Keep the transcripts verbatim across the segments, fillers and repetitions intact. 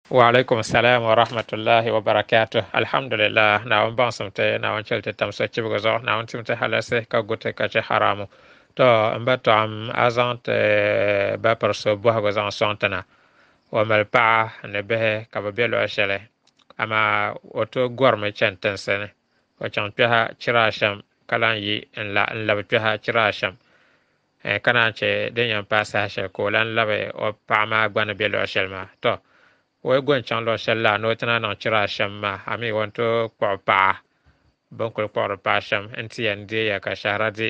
Wa alaikum salam wa rahmatullahi wa barakatuh. Alhamdulillah, Naawuni baŋsim ti, Naawuni chɛli ti tam sochibigi zuɣu, Naawuni tim ti halasi ka gu ti ka chɛ haramu. To n ba tɔɣim a zaŋ ti ba piri so bɔhigu zaŋ sɔŋ ti na. O mali paɣa ni bihi ka bi be luɣ shɛli, amaa o tooi gɔrimi chani tinsi ni. O chaŋ kpɛha chira ashɛm ka lan yi n labi kpɛha chira ashɛm. Ka naan chɛ din yɛn paai saha shɛli ka o lan labi o paɣa maa gba ni be luɣ shɛli maa. To o yi go n-chaŋ luɣ shɛli la ni o ti na niŋ chira ashɛm maa, amii o ni tooi kpuɣi paɣa bɛ ni kuli kpuɣiri paɣa shɛm nti yɛn deeya ka shɛhira di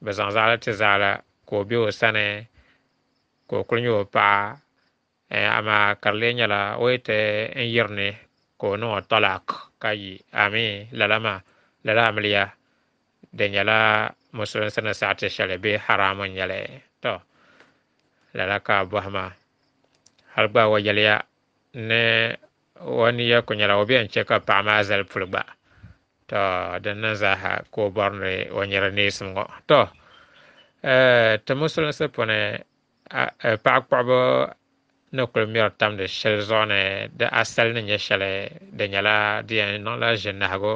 bɛ zaŋ zaɣili ti zaɣila ka o be o sani ka o kuli nyɛ o paɣa, amaa ka di lee nyɛla o yi ti n yiri ni ka o niŋ o talak ka yi. Amii lala maa lala amiliya di nyɛla musulinsi ni saɣiti shɛli bee haramu n nyɛli. To lala ka a bɔhi maa hali gba o yɛliya ni o niya ku nyɛla o bɛn chɛ ka paɣa maa zali puli gba. To din niŋ zaaha ka o bɔri ni o nyɛri neesim ŋɔ. To ti musulinsi puuni paɣa kpuɣibu ni kuli mɛri tamdi shɛli zuɣu ni di asali ni nyɛ shɛli di nyɛla di yɛn niŋla ʒinahigu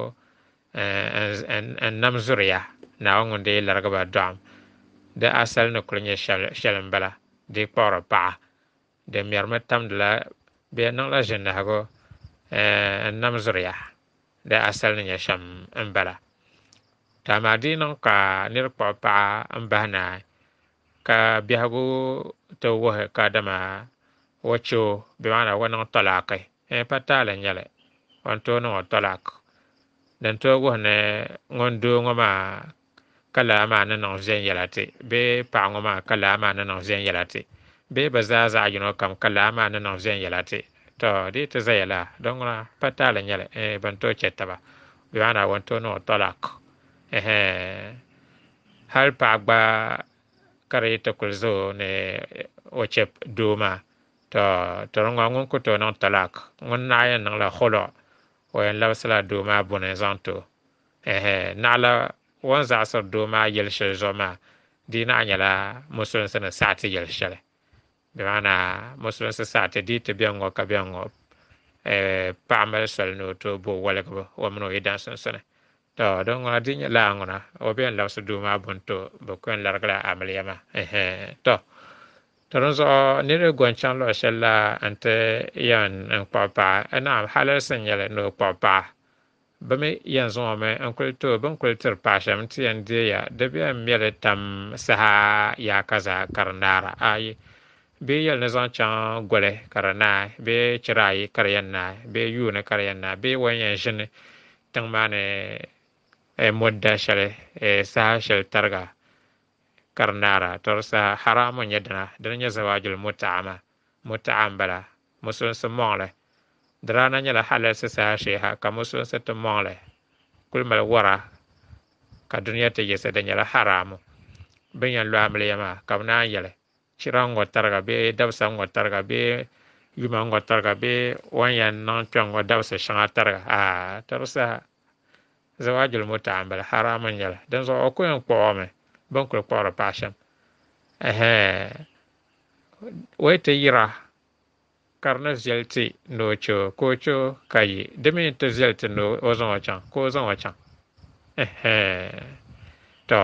n nam zuriya Naawuni ŋun dee larigi ba dɔɣim. Di asali ni kuli nyɛ shɛli n bala di kpuɣiri paɣa di mɛrimi tamdila bɛ yɛn niŋla ʒinahigu n nam zuriya di asali ni nyɛ shɛm n bala. To amaa di niŋ ka niri kpuɣi paɣa n bahi naai ka biɛhigu ti wuhi ka dama o chɛ o bɛ maana o niŋ talaaki pa taali n nyɛli o ni tooi niŋ o talak. Din tooi wuhi ni ŋun doo ŋɔ maa ka lala maa ni niŋ viɛnyɛla ti bee paɣa ŋɔ maa ka lala maa ni niŋ viɛnyɛla ti bee bɛ zaa zaɣ yino kam ka lala maa ni niŋ viɛnyɛla ti. To di ti zaya la din ŋuna pa taali n nyɛli bɛ ni tooi chɛ taba bɛ maana o ni tooi niŋ o talak. Hali paɣa gba ka di yi ti kuli za o ni o chɛ doo maa, to to di ŋɔ ŋun ku tooi niŋ talak ŋun naɣ yɛn niŋla khulu o yɛn labisila doo maa buni zaŋ ti o. Naɣila o ni zaɣisiri doo maa yɛli shɛli zuɣu maa di naɣ nyɛla musulinsi ni saɣiti yɛli shɛli bɛ maana musulinsi saɣiti di ti bɛni ŋɔ ka bɛni ŋɔ paɣa mali soli ni o tooi bo waligibu o mini o yidana sunsuuni. To din ŋuna di nyɛ laa ŋuna o bɛ yɛn labisi doo maa buni ti o bɛ ku yɛn larigila amiliya maa. To to din zuɣu niriba go n-chaŋ luɣ shɛli la nti yɛn n kpuɣi paɣa naam halalisi n nyɛli ni o kpuɣi paɣa bɛ mi yɛn zaŋ o mi n kuli ti o bɛ ni kuli tiri paɣa shɛm nti yɛn deeya di bɛ yɛn mɛli tam saha yaaka zaa ka di naara ayi bee yɛli ni zaŋ chaŋ goli ka di naai bee chira ayi ka di yɛn naai bee yuuni ka di yɛn naai bee o ni yɛn ʒini tiŋ maa ni mudda shɛli saha shɛli tariga ka di naara. To di saha haramu n nyɛ dina dini nyɛ zawajul muta'a maa muta'a n bala musulinsi mɔŋli di daa na nyɛla halalisi saha shee ha ka musulinsi ti mɔŋli kuli mali wara ka duniya ti yiɣisi di nyɛla haramu bɛ ni yɛn lo amiliya maa ka bɛ naan yɛli chira ŋɔ tariga bee dabisa ŋɔ tariga bee yuma ŋɔ tariga bee o ni yɛn niŋ kpɛŋ ŋɔ dabisa shɛŋa tariga aa to di saha zawajul muta'a n bala haramu n nyɛli. Din zuɣu o ku yɛn kpuɣi o mi bɛ ni kuli kpuɣiri paɣa shɛm o yi ti yira ka di ni viɛli ti ni o chɛ o ka o chɛ o ka yi di mi ti viɛli ti ni o zaŋ o chaŋ ka o zaŋ o chaŋ. To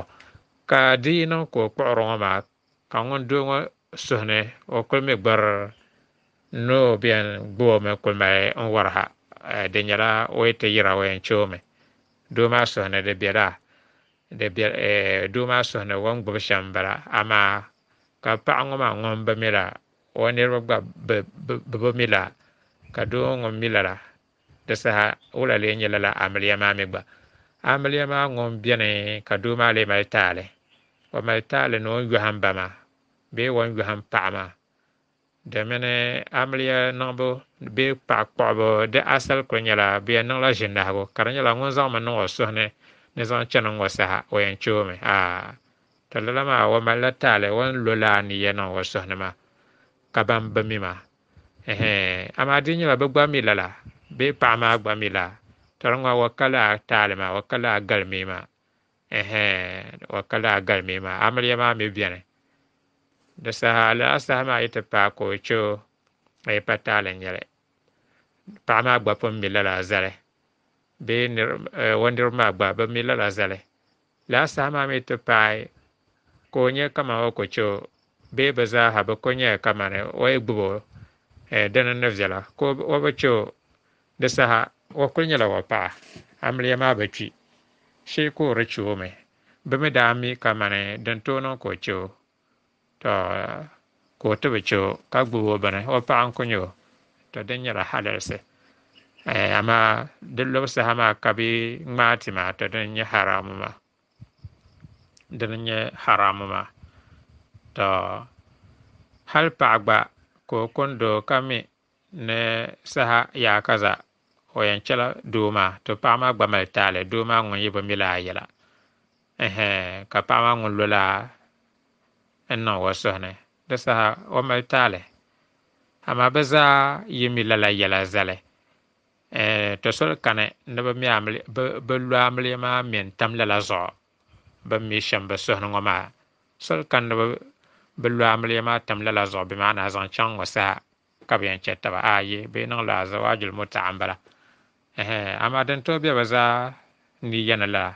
ka di yi niŋ ka o kpuɣiri ŋɔ maa ka ŋun doo ŋɔ suhu ni o kuli mi gbari ni o bɛ yɛn gbubi o mi kuli mali n wari ha di nyɛla o yi ti yira o yɛn chɛ o mi doo maa suhu ni di bela di bɛ doo maa suhu ni o ni gbubi shɛm n bala amaa ka paɣa ŋɔ maa ŋun bi mi la o niriba gba bi bi mi la ka doo ŋun mi lala di saha wula lee nyɛ lala amiliya maa mi gba amiliya maa ŋun bɛni ka doo maa lee mali taali o mali taali ni o ni yɔhim ba maa bee o ni yɔhim paɣa maa domini amiliya niŋbu bee paɣa kpuɣibu di asali kuli nyɛla bɛ yɛn niŋla ʒinahigu ka di nyɛla ŋun zaŋmi niŋ o suhu ni ni zaŋ chani ŋɔ saha o yɛn chɛ o mi aa to lala maa o malila taali o ni lo laa niya niŋ o suhu ni maa ka ban bi mi maa amaa di nyɛla bɛ gba mi lala bee paɣa maa gba mi la to di ŋɔ o ka laa taali maa o ka laa galimi maa o ka laa galimi maa amiliya maa mi bɛni di saha lala saha maa yi ti paai ka o chɛ o pa taali n nyɛli. Paɣa maa gba pun mi lala zali bee o niriba maa gba bi mi lala zali. Lala saha maa mi ti paai ka o nyɛ kaman o ku che o bee bɛ zaaha bɛ ku nyɛ kamani o yi gbubi o dini ni viɛla ka o bi che o di saha o kuli nyɛla o paɣa amiliya maa bi kpi shee ka o di che o mi. Bɛ mi daa mi kamani din tooi niŋ ka o che o to ka o ti bi che o ka gbubi o bini o paɣa n-ku nyɛ o to din nyɛla halalisi. Amaa di lobu saha maa ka bɛ ŋmaai ti maa to din nyɛ haramu maa dini nyɛ haramu maa to hali paɣa gba ka o kundi o ka mi ni saha yaa kaza o yɛn chɛla doo maa to paɣa maa gba mali taali doo maa ŋun yi bi mi laa yɛla ka paɣa maa ŋun lo laa n niŋ o suhu ni di saha o mali taali. Amaa bɛ zaa yi mi lala yɛla zali to soli kani ni bɛ lo amiliya maa mi n-tam lala zuɣu bɛ mi shɛm bɛ suhu ni ŋɔ maa soli kani ni bɛ lo amiliya maa tam lala zuɣu bɛ maana zaŋ chaŋ ŋɔ saha ka bɛ yɛn chɛ taba ayi bɛ yi niŋ la zawaajul muta'a m-bala. Amaa din tooi be bɛ zaa niya ni lala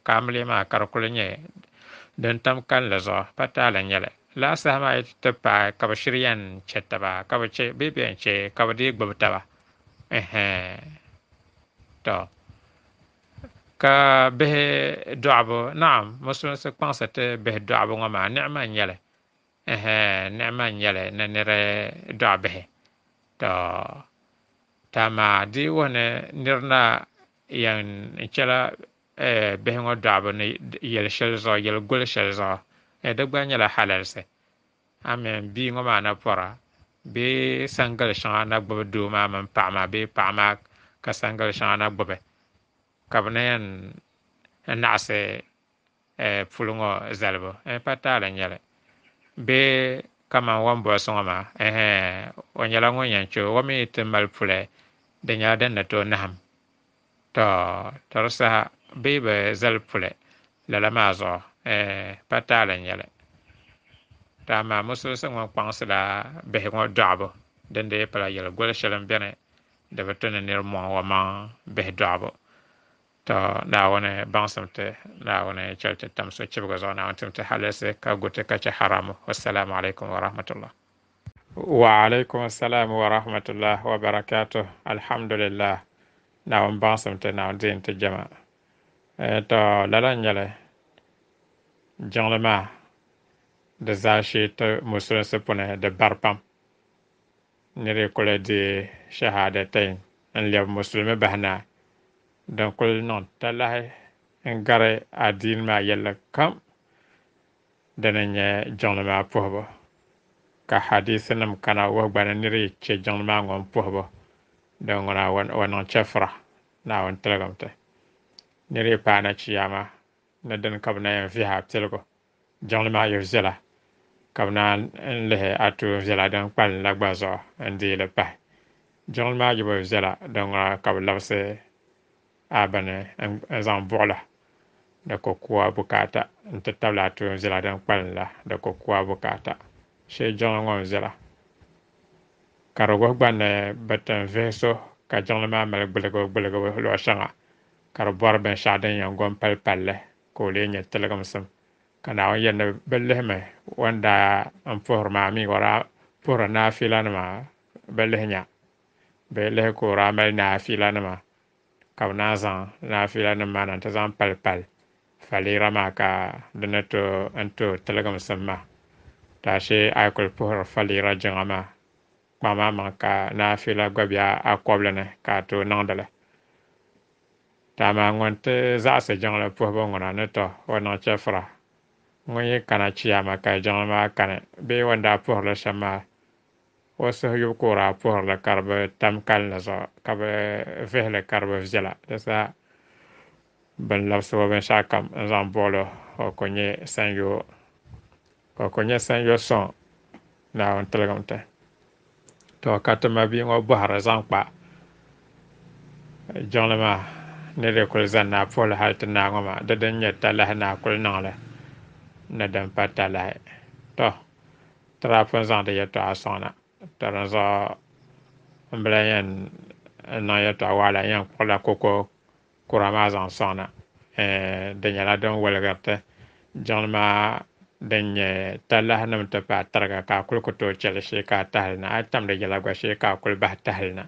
ka amiliya maa ka di kuli nyɛ din tam kalinli zuɣu pa taali n-nyɛ li. Lala saha maa yi ti paai ka bɛ shiri yɛn chɛ taba ka bɛ chɛ bee bɛ yɛn chɛ ka bɛ dii gbubi taba to ka bihi dɔɣibu naam musulinsi kpaŋsi ti bihi dɔɣibu ŋɔ maa niɣima n-nyɛ li niɣima n-nyɛ li ni niri dɔɣi bihi to to amaa di yi wuhi ni niri na yɛn chɛla bihi ŋɔ dɔɣibu ni yɛli shɛli zuɣu yɛli goli shɛli zuɣu di gba nyɛla halalisi. Amin bia ŋɔ maa na pɔra bee sangali shɛŋa na gbubi doo maa mini paɣa maa bee paɣa maa ka sangali shɛŋa na gbubi ka bɛ na yɛn naɣisi puli ŋɔ zalibu pa taali n-nyɛ li bee kaman o ni bɔlisi ŋɔ maa o nyɛla ŋun yɛn che o mi ti mali puli di nyɛla din ni tooi nahim to to di saha bee bi zali puli lala maa zuɣu pa taali n-nyɛ li. To amaa musulinsi ŋɔ kpaŋsila bihi ŋɔ dɔɣibu din dii pala yɛli goli shɛli m-beni di bi tu ni niri mɔŋ o maŋ bihi dɔɣibu. To Naawuni baŋsim ti Naawuni chɛli ti tam sochibigi zuɣu Naawuni tim ti halalisi ka gu ti ka chɛ haramu. Wassalamu alaikum wa rahmatullah. Wa alaikum assalam wa rahmatullah wa barakatuh. Alhamdulillah. Naawuni baŋsim ti Naawuni diin ti jɛma. To lala n-nyɛ li jiŋli maa di zaashee ti musulinsi puni di bari pam. Niri kuli di shahadatain n-lɛbi musulimi bahi na din kuli niŋ talahi n-gari adiini maa yɛlli kam dini n-nyɛ jiŋli maa puhibu ka hadisinima kana wuhi gba ni niri yi che jiŋli maa ŋɔ puhibu din ŋuna o niŋ chɛfura Naawuni tiligim ti. Niri yi paana chiyaama ni dini ka bɛ na yɛn vihi a piligu jiŋli maa yi viɛla ka bɛ naan lihi a tuun viɛla din kpalim la gba zuɣu n-deei li pahi. Jiŋli maa yi bi viɛla din ŋuna ka bɛ labisi a bini n-zaŋ buɣila di ku ku a bukaata n-ti tabili a tuun viɛla din kpalim la di ku ku a bukaata. Shee jiŋli ŋɔ n-viɛla ka di wuhi gba ni bɛ ti n-vihi so ka jiŋli maa mali gbuligibu gbuligibu luɣ shɛŋa ka di bɔri binshɛɣu din yɛn gom pali palli ka o lee nyɛ tiligimsim ka Naawuni yɛli ni bɛ lihimi o ni daa n-puhiri maa mi o daa puhiri naafilanima bɛ lihi nya bɛ lihi ka o daa mali naafilanima ka bɛ naan zaŋ naafilanima maa na nti zaŋ pali pali faliira maa ka di ni tooi n-tooi tiligimsim maa. To ashee a yi kuli puhiri faliira jiŋa maa kpaŋ maa maŋ ka naafila gba be a kɔbili ni ka a tooi niŋdi li. To amaa ŋun ti zaɣisi jiŋli puhibu ŋuna ni tɔ o niŋ chɛfura ŋun yi kana chiyaama ka jiŋli maa kani bee o ni daa puhirili shɛm maa o suhu yubu ka o daa puhirili ka di bi tam kalinli zuɣu ka bi vihili ka di bi viɛla di saha bɛn labisi o binshɛɣu kam n-zaŋ buɣili o ku nyɛ sanyoo o ku nyɛ sanyoo sɔŋ Naawuni tiligim ti. To ka ti mabia ŋɔ bɔhiri zaŋ kpa jiŋli maa ni di kuli zani ni a puhili hali ti naai ŋɔ maa di din nyɛ talahi ni a kuli niŋli ni din pa talahi. To ti daa pun zaŋdi yɛltɔɣa sɔŋ na to dinzuɣu n bi lahi yɛn niŋ yɛltɔɣa waɣala n yɛn kpuɣila koko kura maa zaŋ sɔŋ na. Di nyɛla din woligiri ti jiŋli maa din nyɛ talahi nim ti paai tariga ka a kuli ku tooi chɛli shee ka a tahali na. A yi tam di yɛla gba shee ka a kuli bahi tahali na,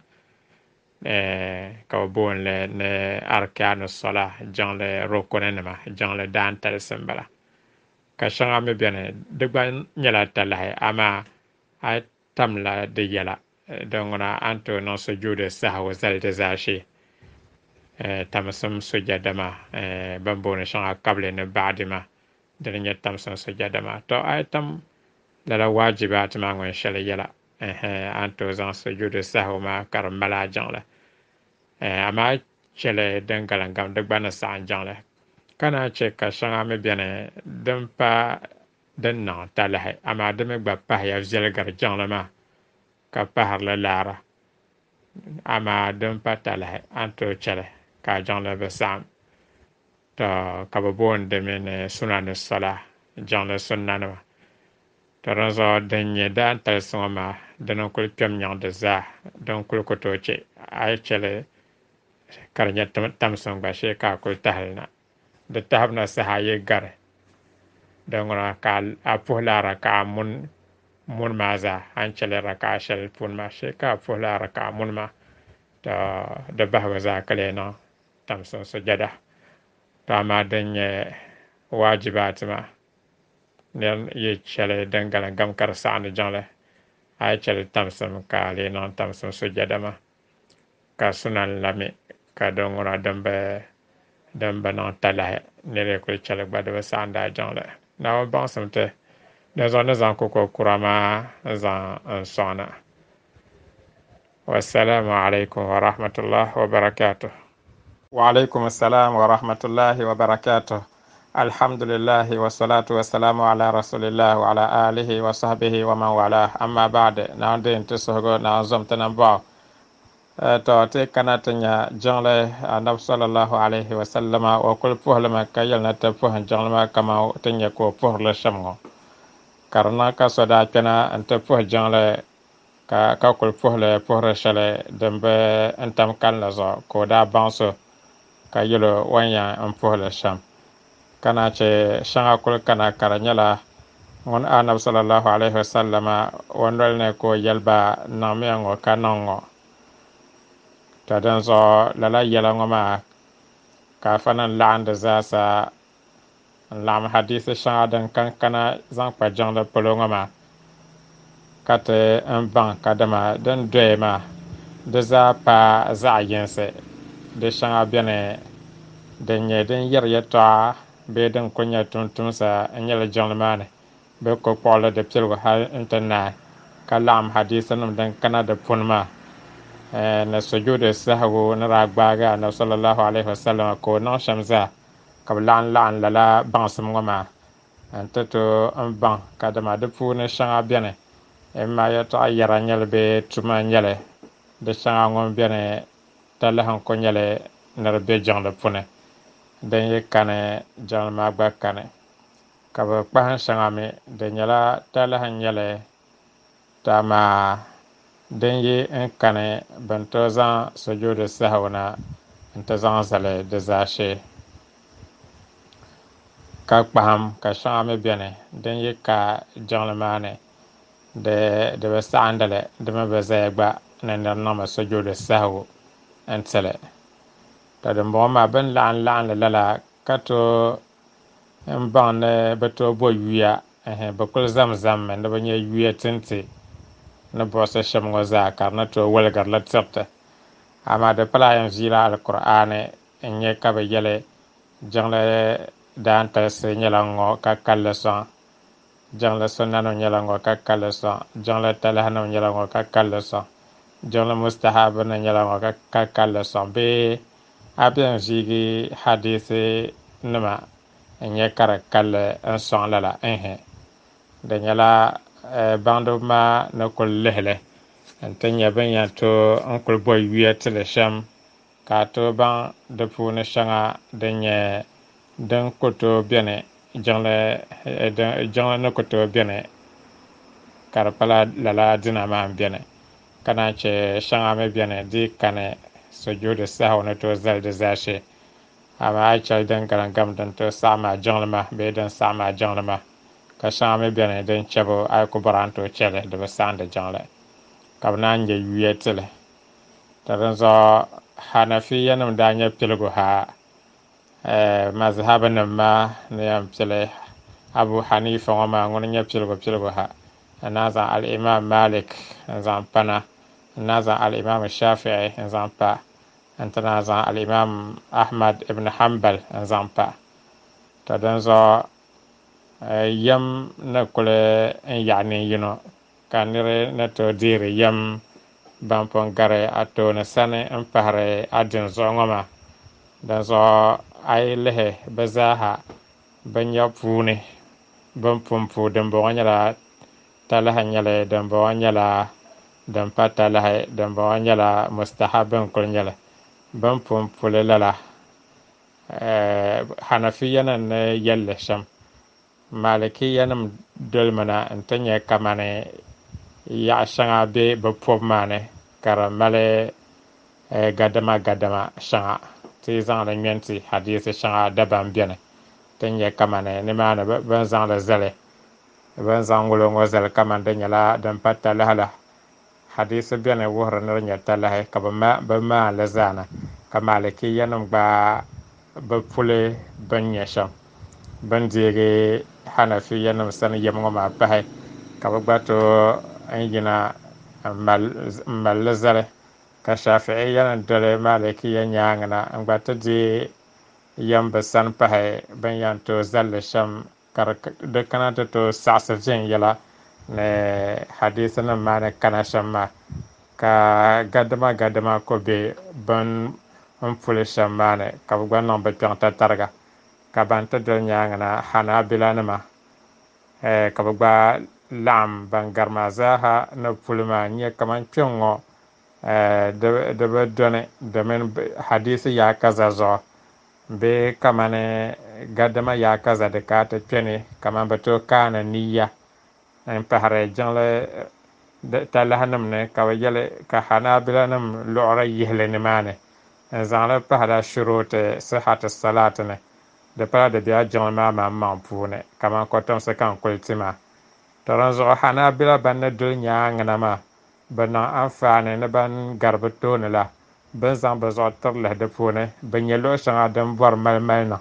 ka bi booni li ni arkanu sola, jiŋli rukuni nima, jiŋli daantalisi n bala. Ka shɛŋa mi biɛni di gba nyɛla talahi, amaa a yi tamla di yɛla din ŋuna a ni tooi niŋ sujuudi sahawu zali di zaashee, tamsim sujada maa, bin booni shɛŋa kabili ni baɣadi maa, dini nyɛ tamsim sujada maa. To a yi tam lala waajibaati maa ŋun shɛli yɛla, a ni tooi zaŋ sujuudi sahawu maa ka di mali a jiŋli. Amaa chɛli din galim di gba ni saɣam jiŋli. Ka naan chɛ ka shɛŋa mi biɛni din pa din niŋ talahi, amaa di mi gba pahiya viɛlgiri jiŋli maa ka pahirili laara, amaa din pa talahi a ni tooi chɛli ka a jiŋli bi saɣam. To ka bi booni di mi ni sunani sola, jiŋli sunna nima. To dinzuɣu din nyɛ daantalisi ŋɔ maa dini n kuli kpɛm nyaŋ di zaa, din kuli ku tooi chɛ a yi chɛli ka di nyɛ tamsim gba shee ka a kuli tahali na. Di tahabu na saha yi gari din ŋuna ka a puhila raka'a mun mun maa zaa, a ni chɛli raka'a shɛli puuni maa shee ka a puhila raka'a mun maa. To di bahigu zaa ka lee niŋ tamsim sujada. To amaa din nyɛ waajibaati maa nir yi chɛli din galim gam ka di saɣandi jiŋli, a yi chɛli tamsim ka a lee niŋ tamsim sujada maa. Ka sunan la mi ka din ŋuna din bi din bi niŋ talahi nir yi kuli chɛli gba di bi saɣandi a jiŋli. Naawuni baŋsim ti dinzuɣu ni zaŋ koko kura maa n zaŋ n sɔŋ na. Wassalamu alaikum wa rahmatullahi wa barakatuh. Wa alaikum assalam wa rahmatullahi wa barakatuh. Alhamdulillahi wa salatu wa salamu ala rasulillah wa ala alihi wa sahbihi wa man wala. Amma ba'd, naawuni deei ti suhigu, naawuni zom ti nambɔɣu. To ti kana ti nya jiŋli anabi sallallahu alaihi wa sallama o kuli puhilimi ka yɛli ni ti puhim jiŋli maa kaman ti nya ka o puhirili shɛm ŋɔ. Ka di niŋ ka so daa kpɛna n ti puhi jiŋli ka ka kuli puhili puhiri shɛli din bi n tam kalinli zuɣu, ka o daa baŋ so ka yɛl o o ni yɛn n puhili shɛm. Ka naan chɛ shɛŋa kuli kana ka di nyɛla ŋun anabi sallallahu alaihi wa sallama o noli ni ka o yɛli ba niŋmiya ŋɔ ka niŋ ŋɔ. To dinzuɣu lala yɛla ŋɔ maa ka afa nim laɣindi zaasa n laɣim hadisi shɛŋa din kan kana zaŋ kpa jiŋli polo ŋɔ maa ka ti n baŋ kadama din doya maa di zaa pa zaɣ yinsi. Di shɛŋa biɛni din nyɛ din yɛri yɛltɔɣa bee din kuli nyɛ tumtumsa n nyɛli jiŋli maa ni bɛ ko kpuɣili di piligu hali n ti naai, ka laɣim hadisi nim din kana di puni maa ni sujuudi sahagu ni daa gbaagi anabi sallallahu alaihi wasallam ka o niŋ shɛm zaa, ka bi laɣim laɣim lala baŋsim ŋɔ maa n ti tooi n baŋ kadama di puuni shɛŋa biɛni imma yɛltɔɣa yɛra nyɛli bee tuma nyɛli, di shɛŋa ŋun biɛni talahi n ku nyɛli ni di be jiŋli puuni, din yi kani jiŋli maa gba kani. Ka bi kpahim shɛŋa mi di nyɛla talahi n nyɛli, to amaa din yi n kani bɛn tooi zaŋ sujuudi sahawu na n ti zaŋ zali di zaashee. Ka kpahim ka shɛŋa mi biɛni din yi ka jiŋli maa ni di di bi saɣindili, di mi bi zaya gba ni nir niŋmi sujuudi sahawu n tili. To dimbɔŋɔ maa bɛn laɣim laɣimli lala ka tooi n baŋ ni bi tooi bo yuya, bi kuli zamzammi ni bi nyɛ yuya tinti ni buɣisi shɛm ŋɔ zaa ka di ni tooi woligirili tiriti. Amaa di pala yɛn viila alkur'aani n nyɛ ka bi yɛli jiŋli daantalisi nyɛla ŋɔ ka kalli sɔŋ, jiŋli sunnanim nyɛla ŋɔ ka kalli sɔŋ, jiŋli talahinim nyɛla ŋɔ ka kalli sɔŋ, jiŋli mustahabinim nyɛla ŋɔ ka kalli sɔŋ, bee a bɛn viigi hadisi nima n nyɛ ka di kalli n sɔŋ lala. Nhi di nyɛla baŋdiba maa ni kuli lihili n ti nyɛ bin yɛn tooi n kuli bo yuya tili shɛm ka a tooi baŋ di puuni shɛŋa din nyɛ din ku tooi biɛni jiŋli jiŋli ni ku tooi biɛni ka di pala lala dina maa n biɛni. Ka naan che shɛŋa mi beni di kani sujuudi sahwi ni tooi zali di zaashee. Amaa a yi chɛli din galim gam din tooi saɣam a jiŋli maa bee din saɣam a jiŋli maa. Ka shɛŋa mi beni din chɛbu a yi ku bɔri a ni tooi chɛli di bi saɣandi jiŋli ka bi naan nyɛ yuya tili. To dinzuɣu Hanafiya nim daa nyɛ piligu ha mazhabi nim maa ni yɛn pili Abu Hanifa ŋɔ maa ŋuni nyɛ piligu piligu ha n naan zaŋ Al-Imam Malik n zaŋ pana, n naan zaŋ Al-Imam Shafi'i n zaŋ pa, n ti naan zaŋ Al-Imam Ahmad ibn Hanbal n zaŋ pa. To dinzuɣu yɛm ni kuli n yaɣa nin yino ka niri ni tooi deeri yɛm ban pun gari a tooni sani n pahari a dini zuɣu ŋɔ maa. Dinzuɣu a yi lihi bi zaaha bi nya puuni bin pun pu dimbɔŋɔ nyɛla talahi nyɛli, dimbɔŋɔ nyɛla din pa talahi, dimbɔŋɔ nyɛla mustahabi n kuli nyɛli. Bin pun puli lala Hanafiya nim ni yɛlli shɛm, Malikiya nim dolimina n ti nyɛ kamani yaɣa shɛŋa bɛ bi pobi maa ni ka di mali gadama gadama shɛŋa ti zaŋli ŋmɛnti hadisi shɛŋa dabam bɛni ti nyɛ kamani nimaani bin zaŋli zali, bin zaŋ ŋulo ŋɔ zali kamani di nyɛla din pa talahi la. Hadisi bɛni wuhiri ni di nyɛ talahi ka bi maanli zaana ka Malikiya nim gba bi puli bin nyɛ shɛm bin deegi Hanafiya nim sani yɛm ŋɔ maa pahi ka bi gba tooi n yina n malli zali. Ka Shafi'iya nim doli Malikiya nyaanga na n gba ti deei yɛm bi sani pahi bin yɛn tooi zalli shɛm ka di kana ti tooi saɣasi viɛnyɛla ni hadisi nim maa ni kana shɛm maa ka gadama gadama ko bɛ bin n puli shɛm maa ni ka bi gba niŋ bi kpiɔŋ tatariga. Ka ban ti doli nyaanga na Hanabila nima ka bi gba laɣam ban gari maa zaaha ni puli maa n nyɛ kamani kpɛŋ ŋɔ di bi doni domin hadisi yaa kaza zuɣu bee kamani gadama yaa kaza di ka ti kpɛni kamani bi tooi kaani niya n pahari jiŋli talahi nim ni ka bi yɛli ka Hanabila nim luɣuri yihili nimaani n zaŋli pahala shuruti sihati salati ni di pala di bɛla jiŋli maa maŋmaŋ puuni kamani kotomsi ka n kuli ti maa. To dinzuɣu Hanabila ban ni doli nyaanga na maa bi niŋ anfaani ni ban gari bi tooni la bin zaŋ bi zuɣu tiri lihi di puuni bi nyɛ luɣu shɛŋa din bɔri mali mali niŋ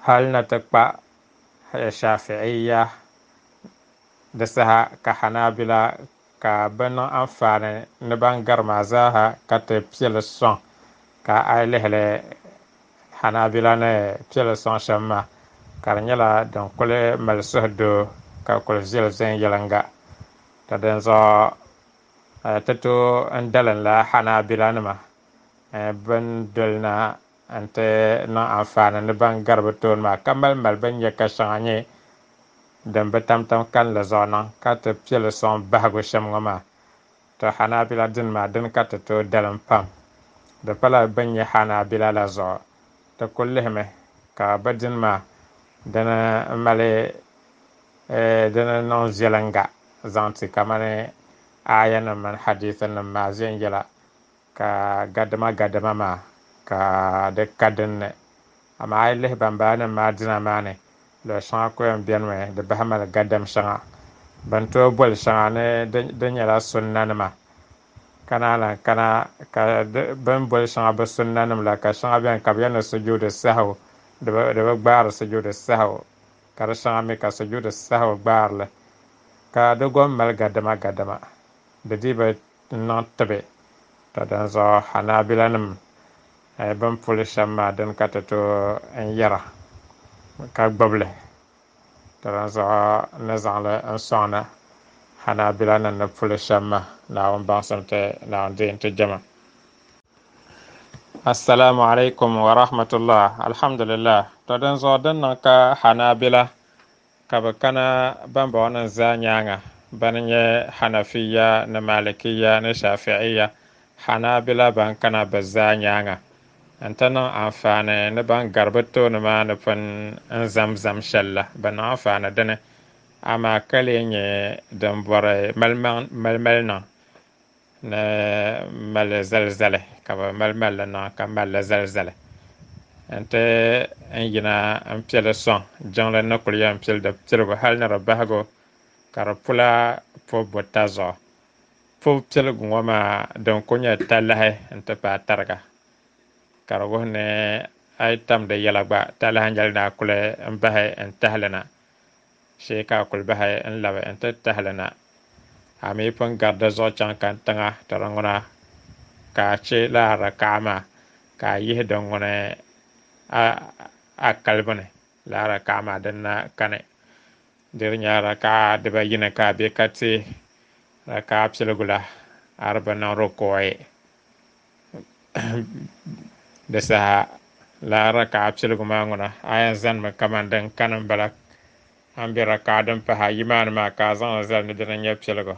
hali na ti kpa Shafi'iya di saha ka Hanabila ka bi niŋ anfaani ni ban gari maa zaaha ka ti piɛli sɔŋ. Ka a yi lihili Hanabila ni piɛli sɔŋ shɛm maa ka di nyɛla din kuli mali suhudoo ka kuli viɛli viɛnyɛlinga. To dinzuɣu ti tooi n dalinla Hanabila nima bin dolina n ti niŋ anfaani ni ban gari bi tooni maa ka mali mali bin nyɛ ka shɛŋa nyɛ din bi tamtam kanli zuɣu niŋ ka ti piɛli sɔŋ bahigu shɛm ŋɔ maa. To Hanabila dini maa dini ka ti tooi dalim pam di pala bin nyɛ Hanabila la zuɣu ti kuli lihimi ka bi dini maa dini mali dini niŋ viɛlinga zaŋ ti kamani aya nim mini hadisi nim maa viɛnyɛla ka gadama gadama maa ka di ka dinni. Amaa a yi lihi ban bala nim maa dina maa ni luɣu shɛŋa ku yɛn bɛni mi di bahi mali gadam shɛŋa bin tooi boli shɛŋa ni di nyɛla sunna nima ka naan lahi kana ka bin boli shɛŋa bi sunna nim la ka shɛŋa bɛni ka bi yɛli ni sujuudi sahwi di bi gbaari sujuudi sahwi ka di shɛŋa mi ka sujuudi sahwi gbaarili ka di gom mali gadama gadama di dii bi niŋ tibi. To dinzuɣu Hanabila nim bin puli shɛm maa dini ka ti tooi n yɛra ka gbubili. To dinzuɣu ni zaŋli n sɔŋna Hanabila nim ni puli shɛm maa. Naawuni baŋsim ti Naawuni deei n-ti jɛma. Assalamu alaikum wa rahmatullah. Alhamdulillah. To dinzuɣu din niŋ ka Hanabila ka bi kana bambɔŋɔ nim zaa nyaanga bani nyɛ Hanafiya ni Malikiya ni Shafi'iya, Hanabila ban kana bi zaa nyaanga n ti niŋ anfaani ni ban gari bi tooni maa ni pun n zamzam shɛli la bi niŋ anfaani dini amaa ka lee nyɛ din bɔri malimali niŋ Ni mali zali zali ka bi mali malli niŋ ka malli zali zali n-ti n yina n piɛli sɔŋ jiŋli ni kuli yɛn pili di piligu hali ni di bahigu ka di pula pubu buta zuɣu. Pubu piligu ŋɔ maa din ku nyɛ talahi n-ti paai tariga ka di wuhi ni a yi tam di yɛla gba talahi nyɛli ni a kuli n bahi n tahali na shee ka a kuli bahi n labi n ti tahali na. A mi pun gari di zuɣu chaŋ kantiŋa ti di ŋuna ka a che lala rakaɣa maa ka a yihi din ŋuni a kalibu ni lala rakaɣa maa din na kani. Di di nyɛla rakaɣa dibayini ka a be ka ti rakaɣa piligu la a di bi niŋ rukuuyi di saha lala rakaɣa piligu maa ŋuna a yɛn zanimi kamani din kani m-bala a ni be rakaɣa din pahi ayi maa ni maa ka a zaŋli zali ni dina n-nyɛ piligu.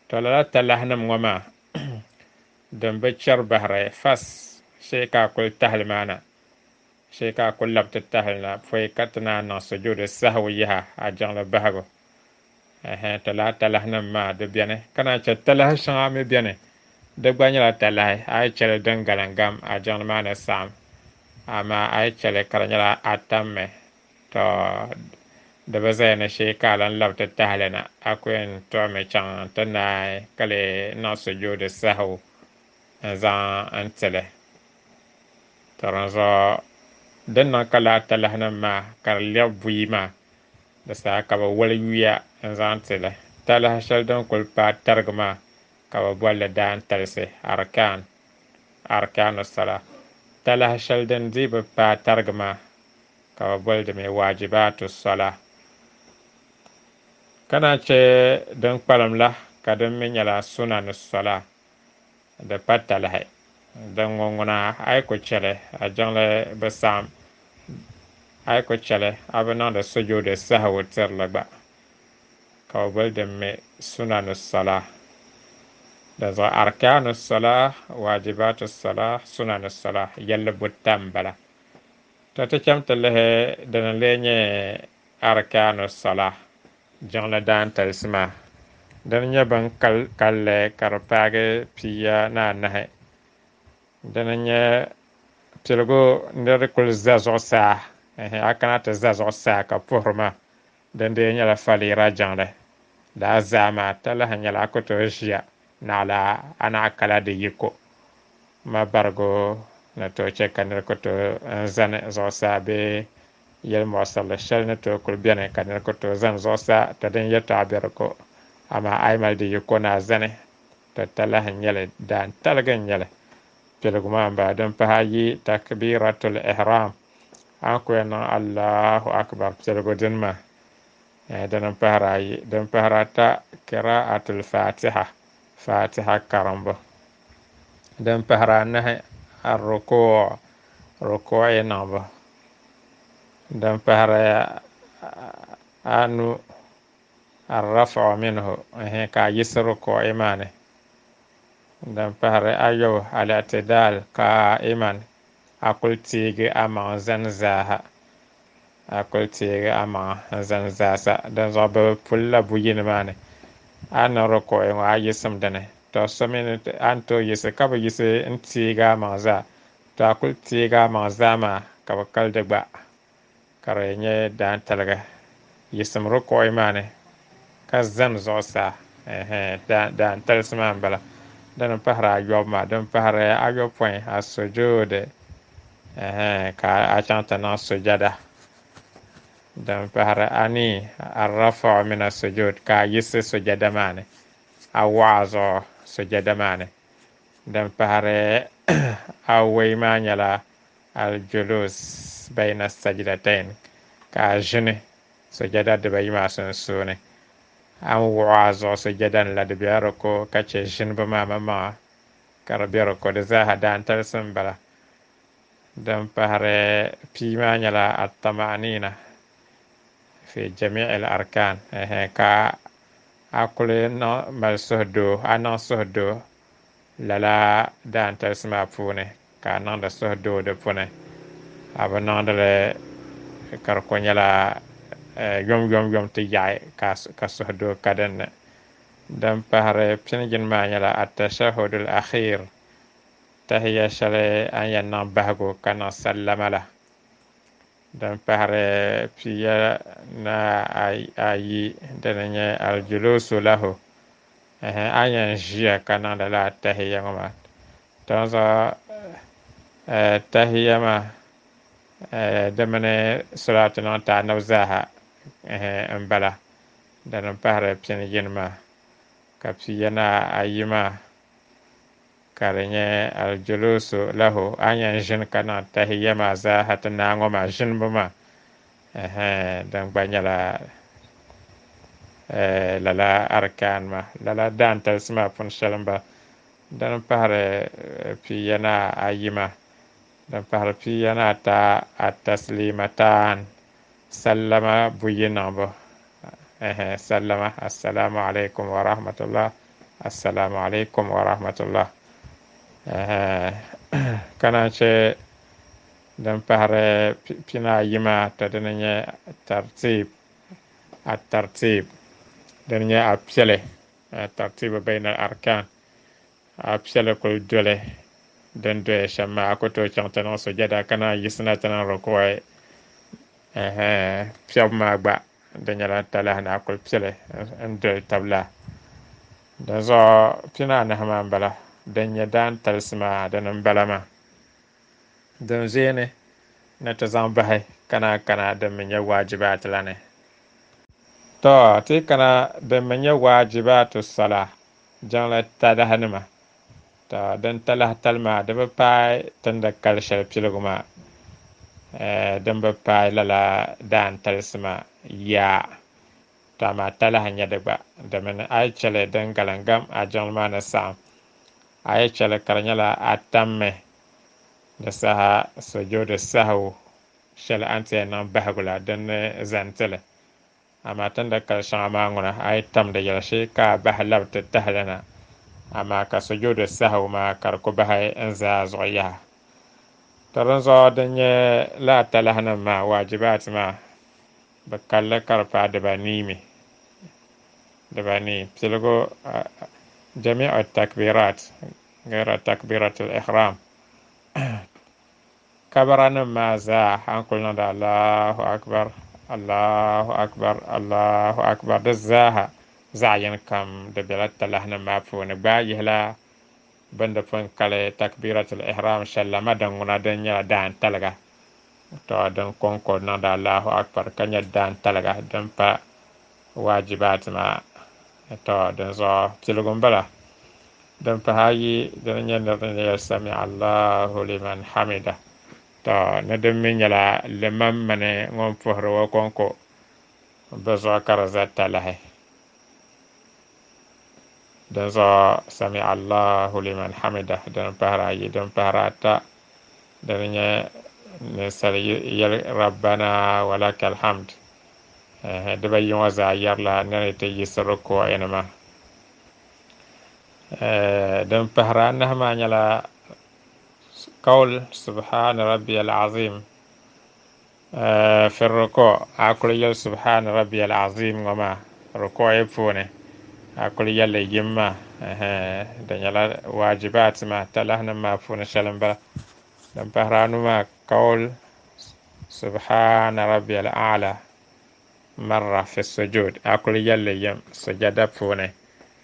To lala talahinima ŋɔ maa din bi chɛri bahiri fas shee ka a kuli tahali maa na shee ka a kuli labi ti tahali na pɔi ka ti naan niŋ sujuudi sahawu yaha a jiŋli bahigu. To lala talahinima maa di beni ka naan che talahi shɛŋa mi beni di gba nyɛla talahi a yi chɛli din galingam a jiŋli maa ni saɣim amaa a yi chɛli ka di nyɛla a tammi to di bi zaya ni shee ka a lan labi ti tahali na a ku yɛn tuɣimi chaŋ ti naai ka lee niŋ sujuudi sahawu n-zaŋ n-tili. To dinzuɣu din niŋ ka lala talahinima maa ka di lɛbi buyi maa di saha ka bɛ wali yuya n-zaŋ tili. Talahi shɛli din kuli paai tarigi maa ka bɛ boli li daantalisi arkaan arkaanu sala. Talahi shɛli din dii bi paai tarigi maa ka bɛ boli di mi waajibaatu sala. Ka naan che din kpalim la ka din mi nyɛla sunanu sala di pa talahi. Din ŋɔ ŋuna a yi ku chɛli a jiŋli bi saɣim a yi ku chɛli a bi niŋdi sujuudi sahawu tirili gba ka bɛ boli din mi sunanu sala. Dinzuɣu arkaanu sala, waajibaatu sala, sunanu sala yɛlli buta m-bala. To ti cham ti lihi dini n-lee nyɛ arkaanu sala jiŋli daantalisi maa. Dini nyɛ bin kalli ka di paagi pia ni anahi. Dini nyɛ piligu ni di kuli za zuɣusaa a kana ti za zuɣusaa ka puhiri maa din dee nyɛla faliira jiŋli. Daa zaa maa talahi nyɛla a ku tooi ʒiya naɣila a naɣ kala di yiko ma barigu ni tooi che ka nira ku tooi n zani zuɣusaa bee yɛlimuɣisirili shɛli ni tooi kuli beni ka nira ku tooi zani zuɣusaa to din yɛltɔɣa be di ko amaa a yi mali di yiko ni a zani to talahi n-nyɛli daantaligi n-nyɛli. Piligu maa m-bala din pahi ayi takbiratul ihram a ni ku yɛn niŋ Allahu akbar piligu dini maa dini m-pahiri ayi. Din pahiri ata qira'atul fatiha fatiha karimbu. Din pahiri anahi ar-rukuu rukuu'i niŋbu. Din pahiri anu ar-raf'u minhu ka a yiɣisi rukuu'i maa ni. Din pahiri ayɔbu al-i'tidal qa'iman a kuli teegi amaŋ zani zaaha a kuli teegi amaŋ n-zani zaasa. Dinzuɣu bɛ pulila buyini maa ni a ni niŋ rukuu'i ŋɔ a yiɣisim dini to so mi a ni tooi yiɣisi ka bi yiɣisi n-teegi amaŋ zaa to a kuli teegi amaŋ zaa maa ka bɛ kali di gba ka di nyɛ daantaligi. Yiɣisim rukuu'i maa ni ka zani zuɣusaa daantalisi maa m-bala. Din pahiri ayɔbu maa din pahiri ayɔpɔin as-sujuud ka a chaŋ ti niŋ sujada. Din pahiri anii ar-raf'u min as-sujud ka a yiɣisi sujada maa ni a waɣa zuɣu sujada maa ni. Din pahiri awɔi maa nyɛla al-julus bayna as-sajdatayn ka a ʒini sujada dibayi maa sunsuuni. A ni wuɣi a zuɣu sujada ni la di bela di ko ka che ʒinibu maa maŋmaŋa ka di be di ko di zaaha daantalisi m-bala. Din pahiri pia maa nyɛla at-tama'nina fi jami'i al-arkan ka a kuli mali suhudoo a niŋ suhudoo lala daantalisi maa puuni ka a niŋdi suhudoo di puuni a bi niŋdili ka di ku nyɛla yom yom yom ti yaɣi ka suhudoo ka dinni. Din pahiri pinigini maa nyɛla atashahudul akhir, tahiya shɛli a ni yɛn niŋ bahigu ka niŋ sallama la. Din pahiri piya na ayi dini nyɛ aljulusu lahu, a yɛn ʒiya ka niŋdi lala tahiya ŋɔ maa. Dinzuɣu tahiya maa di mini salatu niŋ ti anabi zaaha n bala. Dini pahiri pinigini maa ka piya na ayi maa ka di nyɛ aljulusu lahu, a yɛn ʒini ka niŋ tahiya maa zaaha ti naa ŋɔ maa ʒinibu maa, din gba nyɛla lala arkan maa, lala daantalisi maa puuni shɛli n bala. Din pahiri piya na ayi maa, din pahiri piya na ata ataslimatan, sallama buyi niŋbu, sallama assalamu alaikum wa rahmatullah, assalamu alaikum wa rahmatullah. Ka naan che din pahiri pina ayi maa to dini nyɛ tartib, at-tartib dini nyɛ a piɛli, tartibu bayna al-arkan, a piɛli kuli doli din doya shɛm maa, a ku tooi chaŋ ti niŋ sujada ka naan yiɣisina ti niŋ ruku'i. Piɛbu maa gba di nyɛla talahi ni a kuli piɛli n doli tabila. Dinzuɣu pina anahi maa n bala, din nyɛ daantalisi maa dini n bala maa. Din ʒeeni ni ti zaŋ bahi kana kana din mi nyɛ waajibaati la ni. To ti kana din mi nyɛ waajibaatu sala, jiŋli talahi nima. To din talahi tali maa di bi paai tindi kali shɛli piligu maa, din bi paai lala daantalisi maa yaa. To amaa talahi nyɛ di gba, domini a yi chɛli din galingam a jiŋli maa ni saɣim, a yi chɛli ka di nyɛla a tammi di saha sujuudi sahwu shɛli a ni ti yɛn niŋ bahigu la din ni zani tili. Amaa tindi kali shɛŋa maa ŋuna a yi tam di yɛli shee ka a bahi labi ti tahili na, amaa ka sujuudi sahwu maa ka di ku bahi n zaa zuɣu yaha. To dinzuɣu din nyɛ lala talahi nim maa waajibaati maa bi kalli ka di paai dibanii mi, dibanii piligu jamiu takbirat ghaira takbiratul ihram, kabara nim maa zaa a ni kuli niŋdi Allahu akbar, Allahu akbar, Allahu akbar, di zaaha zaɣ yini kam di bela talahi nim maa puuni. Gbaai yihila bini di pun kali takbiratul ihram shɛli la ma din ŋuna din nyɛla daantaliga. To din kɔŋko niŋdi Allahu akbar ka nyɛ daantaliga din pa waajibaati maa. To dinzuɣu piligu n bala. Din pahi ayi dini nyɛ nir ni yɛli sami Allahu liman hamida. To ni din mi nyɛla liman mini ŋun puhiri o kɔŋko bi zuɣu ka di za talahi. Dinzuɣu sami Allahu liman hamida din pahiri ayi. Din pahiri ata dini nyɛ ninsal yɛli rabbana walakal hamd, dibayi ŋɔ zaa yɛrila ni ti yiɣisi ruku'i ni maa. Din pahiri anahi maa nyɛla qawl subhana rabbiyal azim fi ruku', a kuli yɛli subhana rabbiyal azim ŋɔ maa ruku'i puuni, a kuli yɛlli yim maa, di nyɛla waajibaati maa talahi nim maa puuni shɛli n bala. Din pahiri anu maa qawl subhana rabbiyal a'la marra fi sujud, a kuli yɛlli yim sujada puuni,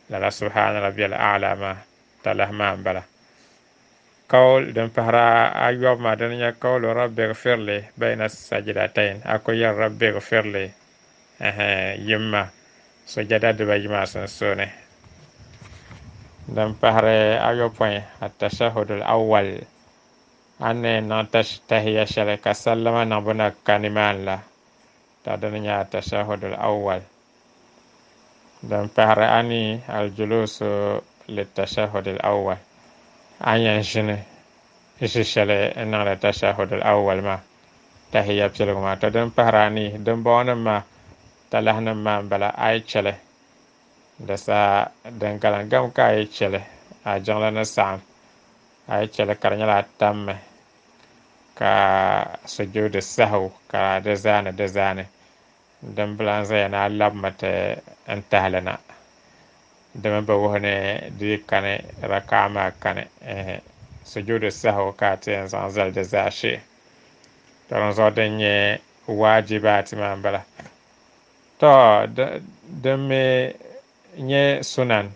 lala subhana rabbiyal a'la maa talahi maa n bala. Qawl din pahiri ayɔbu maa dini nyɛ qawlu rabbi ighfirli bayna sajidatayn, a kuli yɛli rabbi ighfirli yim maa sujada dibayi maa sunsuuni. Din pahiri ayɔpɔin atashahudul awwal, a ni niŋ tahiya shɛli ka sallama niŋbu na ka nimaani la, to dini nyɛ atashahudul awwal. Din pahiri anii aljulusu litashahudul awwal, a yɛn ʒini ʒi shɛli n niŋdi tashahudul awwal maa tahiya piligu maa. To din pahiri anii dimbɔŋɔnim maa talahi nim maa n bala, a yi chɛli di saha din galingam ka a yi chɛli a jiŋli ni saɣim, a yi chɛli ka di nyɛla a tammi ka sujuudi sahwu ka di zaani di zaani, din bila n zaya ni a labimi ti n tahili na. Dimi bi wuhi ni di kani rakaa maa kani sujuudu sahwi ka a ti yɛn zaŋ zali di zaashee. To din zuɣu din nyɛ waajibaati maa m-bala. To din mi nyɛ sunan,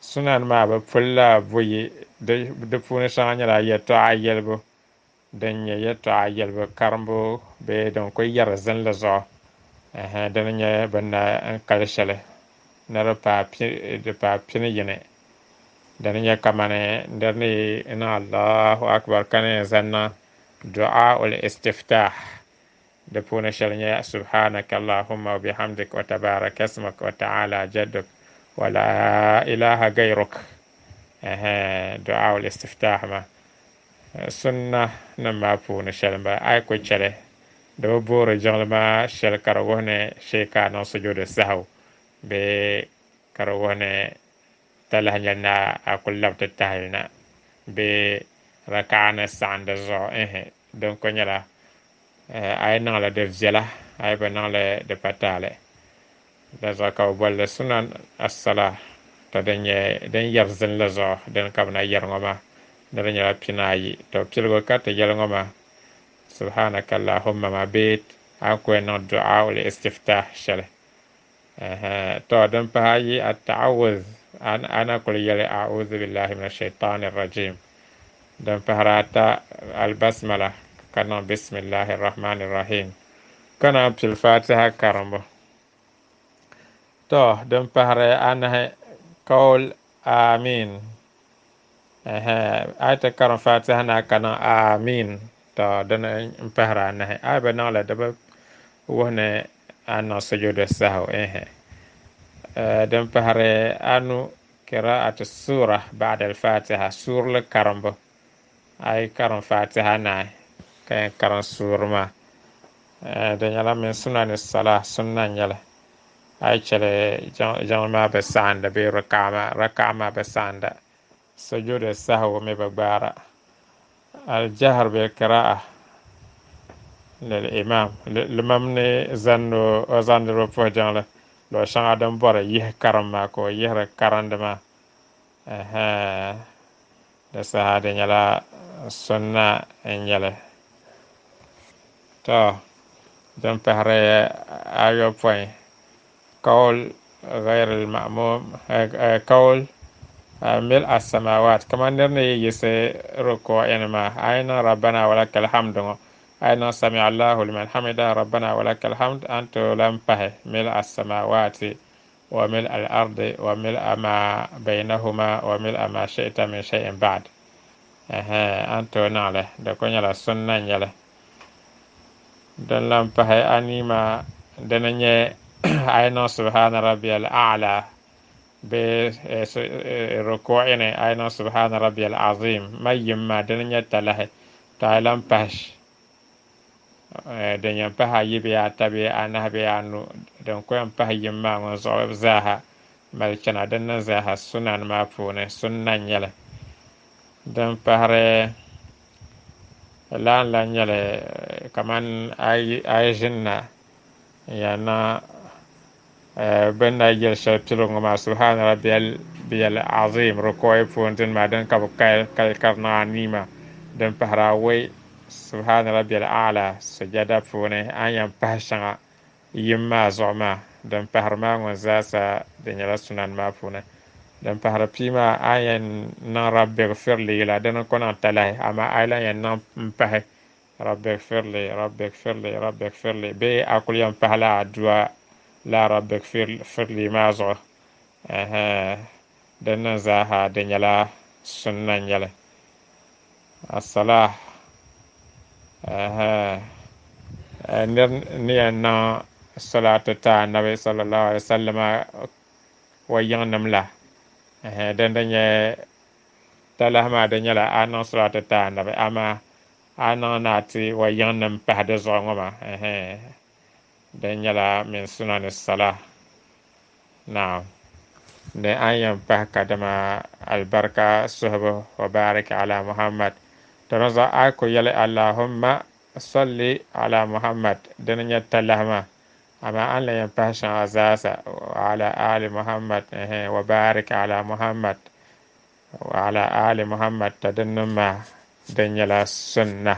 sunan maa bi pulila buyi, di puuni shɛŋa nyɛla yɛltɔɣa yɛlibu, din nyɛ yɛltɔɣa yɛlibu karimbu bee din kuli yɛri zinli zuɣu, dini nyɛ bɛ na n kali shɛli ni di paai pini yini. Dini nyɛ kamani nir ni niŋ Allahu akbar ka ni zaŋ niŋ du'a ul istiftah, di puuni shɛli nyɛ subhanaka allahumma wa bihamdik wa tabaraka ismuk wa ta'ala jadduk wa la ilaha gayruk. Du'a ul istiftah maa sunna nim maa puuni shɛli m-bala. A yi ku chɛli di bi boori jiŋli maa shɛli ka di wuhi ni shee ka a niŋ sujuudu sahwi bee ka di wuhi ni talahi nyɛli ni a kuli labi ti tahili na bee raka'a ni saɣindi zuɣu. Din ku nyɛla a yi niŋli di viɛla, a yi bi niŋli di pa taali. Di zuɣu ka bi bolli sunan as-salah. To din nyɛ din yɛri zinli zuɣu din ka bi na yɛri ŋɔ maa ni di nyɛla pina ayi. To piligu ka ti yɛli ŋɔ maa subhanaka allahumma maa bee a ku yɛn niŋ du'a ul istiftah shɛli. To din pahi ayi at-ta'awuz, ana kuli yɛli a'udhu billahi minash shaitani rajim. Din pahiri ata albasmala ka niŋ bismillahi rahmani rahim ka naan pili fatiha karimbu. To din pahiri anahi qaul amin. A yi ti karim fatiha na ka niŋ amin, to dini n pahiri anahi. A yi bi niŋli di bi wuhi ni a niŋ sujuudu sahwi. Din pahiri anu qira'atu sura ba'da al-fatiha, suurili karimbu. A yi karim fatiha naai ka yɛn karim suuri maa, di nyɛla min sunani salah, sunna n-nyɛli. A yi chɛli jiŋli maa bi saɣinda bee raka'a maa bi saɣinda, sujuudu sahwi mi bi gbaara. Al-jahr bil qira'a lil imam, limam ni zani o zaŋ niriba puhi jiŋli luɣ shɛŋa din bɔri yihi karim maa ka o yihiri karindi maa, di saha di nyɛla sunna n-nyɛli. To din pahiri ayopɔin qaul ghayr al-ma'mum, qaul mil as-samawat, kamani nir ni yi yiɣisi ruku'ini maa a yi niŋ rabbana walakal hamdu ŋɔ, a yi niŋ sami Allahu liman hamida rabbana walakal hamd, a ni tooi lan pahi mil as-samawati wa mil al-ardi wa mil ma baynahuma wa mil ma shi'ta min shay'in ba'd. A ni tooi niŋli, di ku nyɛla sunna n-nyɛli. Din lan pahi anii maa dini nyɛ a yi niŋ subhana rabbiyal a'la bee ruku'ini a yi niŋ subhana rabbiyal azim ma yim maa, dini nyɛ talahi. To a yi lan pahi din yɛn pahi ayi bee ata bee anahi bee anu, din ku yɛn pahi yim maa ŋɔ zuɣu zaaha mali chana, din niŋ zaaha sunan maa puuni sunna n-nyɛli. Din pahiri lan lan nyɛli kamani a yi ʒini na n-yɛn niŋ bɛ ni na yɛli shɛli piligu ŋɔ maa subhana rabbiyal azim ruku'i puuni dini maa din ka bi kali ka di niŋ anii maa. Din pahiri awɔi subhana rabbiyal a'la sujada puuni a ni yɛn pahi shɛŋa yim maa zuɣu maa, din pahiri maa ŋɔ zaasa di nyɛla sunan maa puuni. Din pahiri pia maa a ni yɛn niŋ rabbi gfirli la, dini ku niŋ talahi, amaa a yi lan yɛn niŋ m-pahi rabbi gfirli rabbi gfirli rabbi gfirli bee a kuli yɛn pahila adua la rabbi gfirli maa zuɣu. Din niŋ zaaha di nyɛla sunna n-nyɛli. As-salah, nir ni yɛn niŋ salatu ti anabi sallallahu alaihi wasallam wa yiŋnim la, din di nyɛ talahi maa di nyɛla a niŋ salatu ti anabi, amaa a niŋ ni a ti wa yiŋnim pahi di zuɣu ŋɔ maa, din nyɛla min sunani salah. Naam, ni a ni yɛn pahi kadama albarka suhibu wa barik ala Muhammad. To di zuɣu a ku yɛli Allahumma salli ala Muhammad, dini nyɛ talahi maa. Amaa a ni lan yɛn pahi shɛŋa zaasa wa ala ali Muhammad wa barik ala Muhammad wa ala ali Muhammad to dinnim maa din nyɛla sunna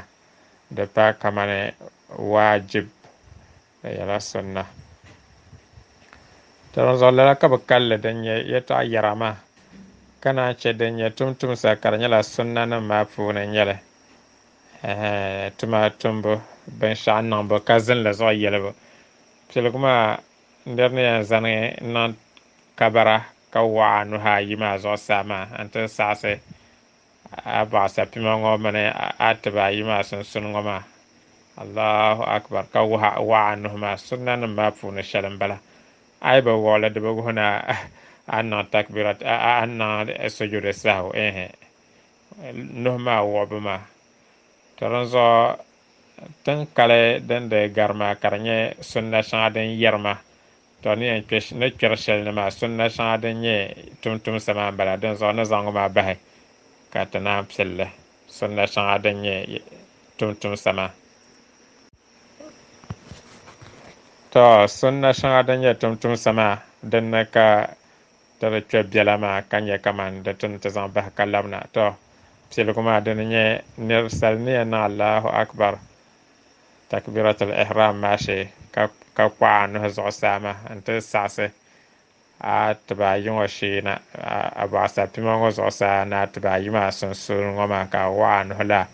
di pa kamani waajib di nyɛla sunna. To dinzuɣu lala ka bɛ kalli din nyɛ yɛltɔɣa yɛra maa ka naan che din nyɛ tumtumsa ka di nyɛla sunnanim maa puuni n-nyɛli tuma tumbu binshɛɣu niŋbu ka zinli zuɣu yɛlibu. Piligu maa nir ni yɛn zani niŋ kabara ka waɣa a nuhi ayi maa zuɣusaa maa n-ti saɣisi a bɔɣusapima ŋɔ mini a tiba ayi maa sunsuuni ŋɔ maa Allahu akbar ka waɣa a nuhi maa sunnanim maa puuni shɛli m-bala. A yi bi wuɣili di bi wuhi ni a niŋ takbirat a niŋ sujuudi sahu ehe nuhi maa wuɣibu maa. To dinzuɣu tin kali din di gari maa ka di nyɛ sunna shɛŋa din yɛri ma to ni yɛn ni kpɛri shɛli ni maa sunna shɛŋa din nyɛ tumtumsa maa m-bala. Dinzuɣu ni zaŋ ŋɔ maa bahi ka ti naan pilli sunna shɛŋa din nyɛ tumtumsa maa. To sunna shɛŋa din nyɛ tumtumsa maa dinni ka ti di kpe biɛla maa ka nyɛ kaman di tuni ti zaŋ bahi ka labina. To piligu maa dini nyɛ ninsal ni yɛn niŋ Allahu akbar takbiratul ihram maa shee ka ka kpaɣa a nuhi zuɣusaa maa n-ti saɣisi a tiba ayi ŋɔ shee na a bɔɣusapima ŋɔ zuɣusaa ni a tiba ayi maa sunsuuni ŋɔ maa ka a waɣa a nuhi la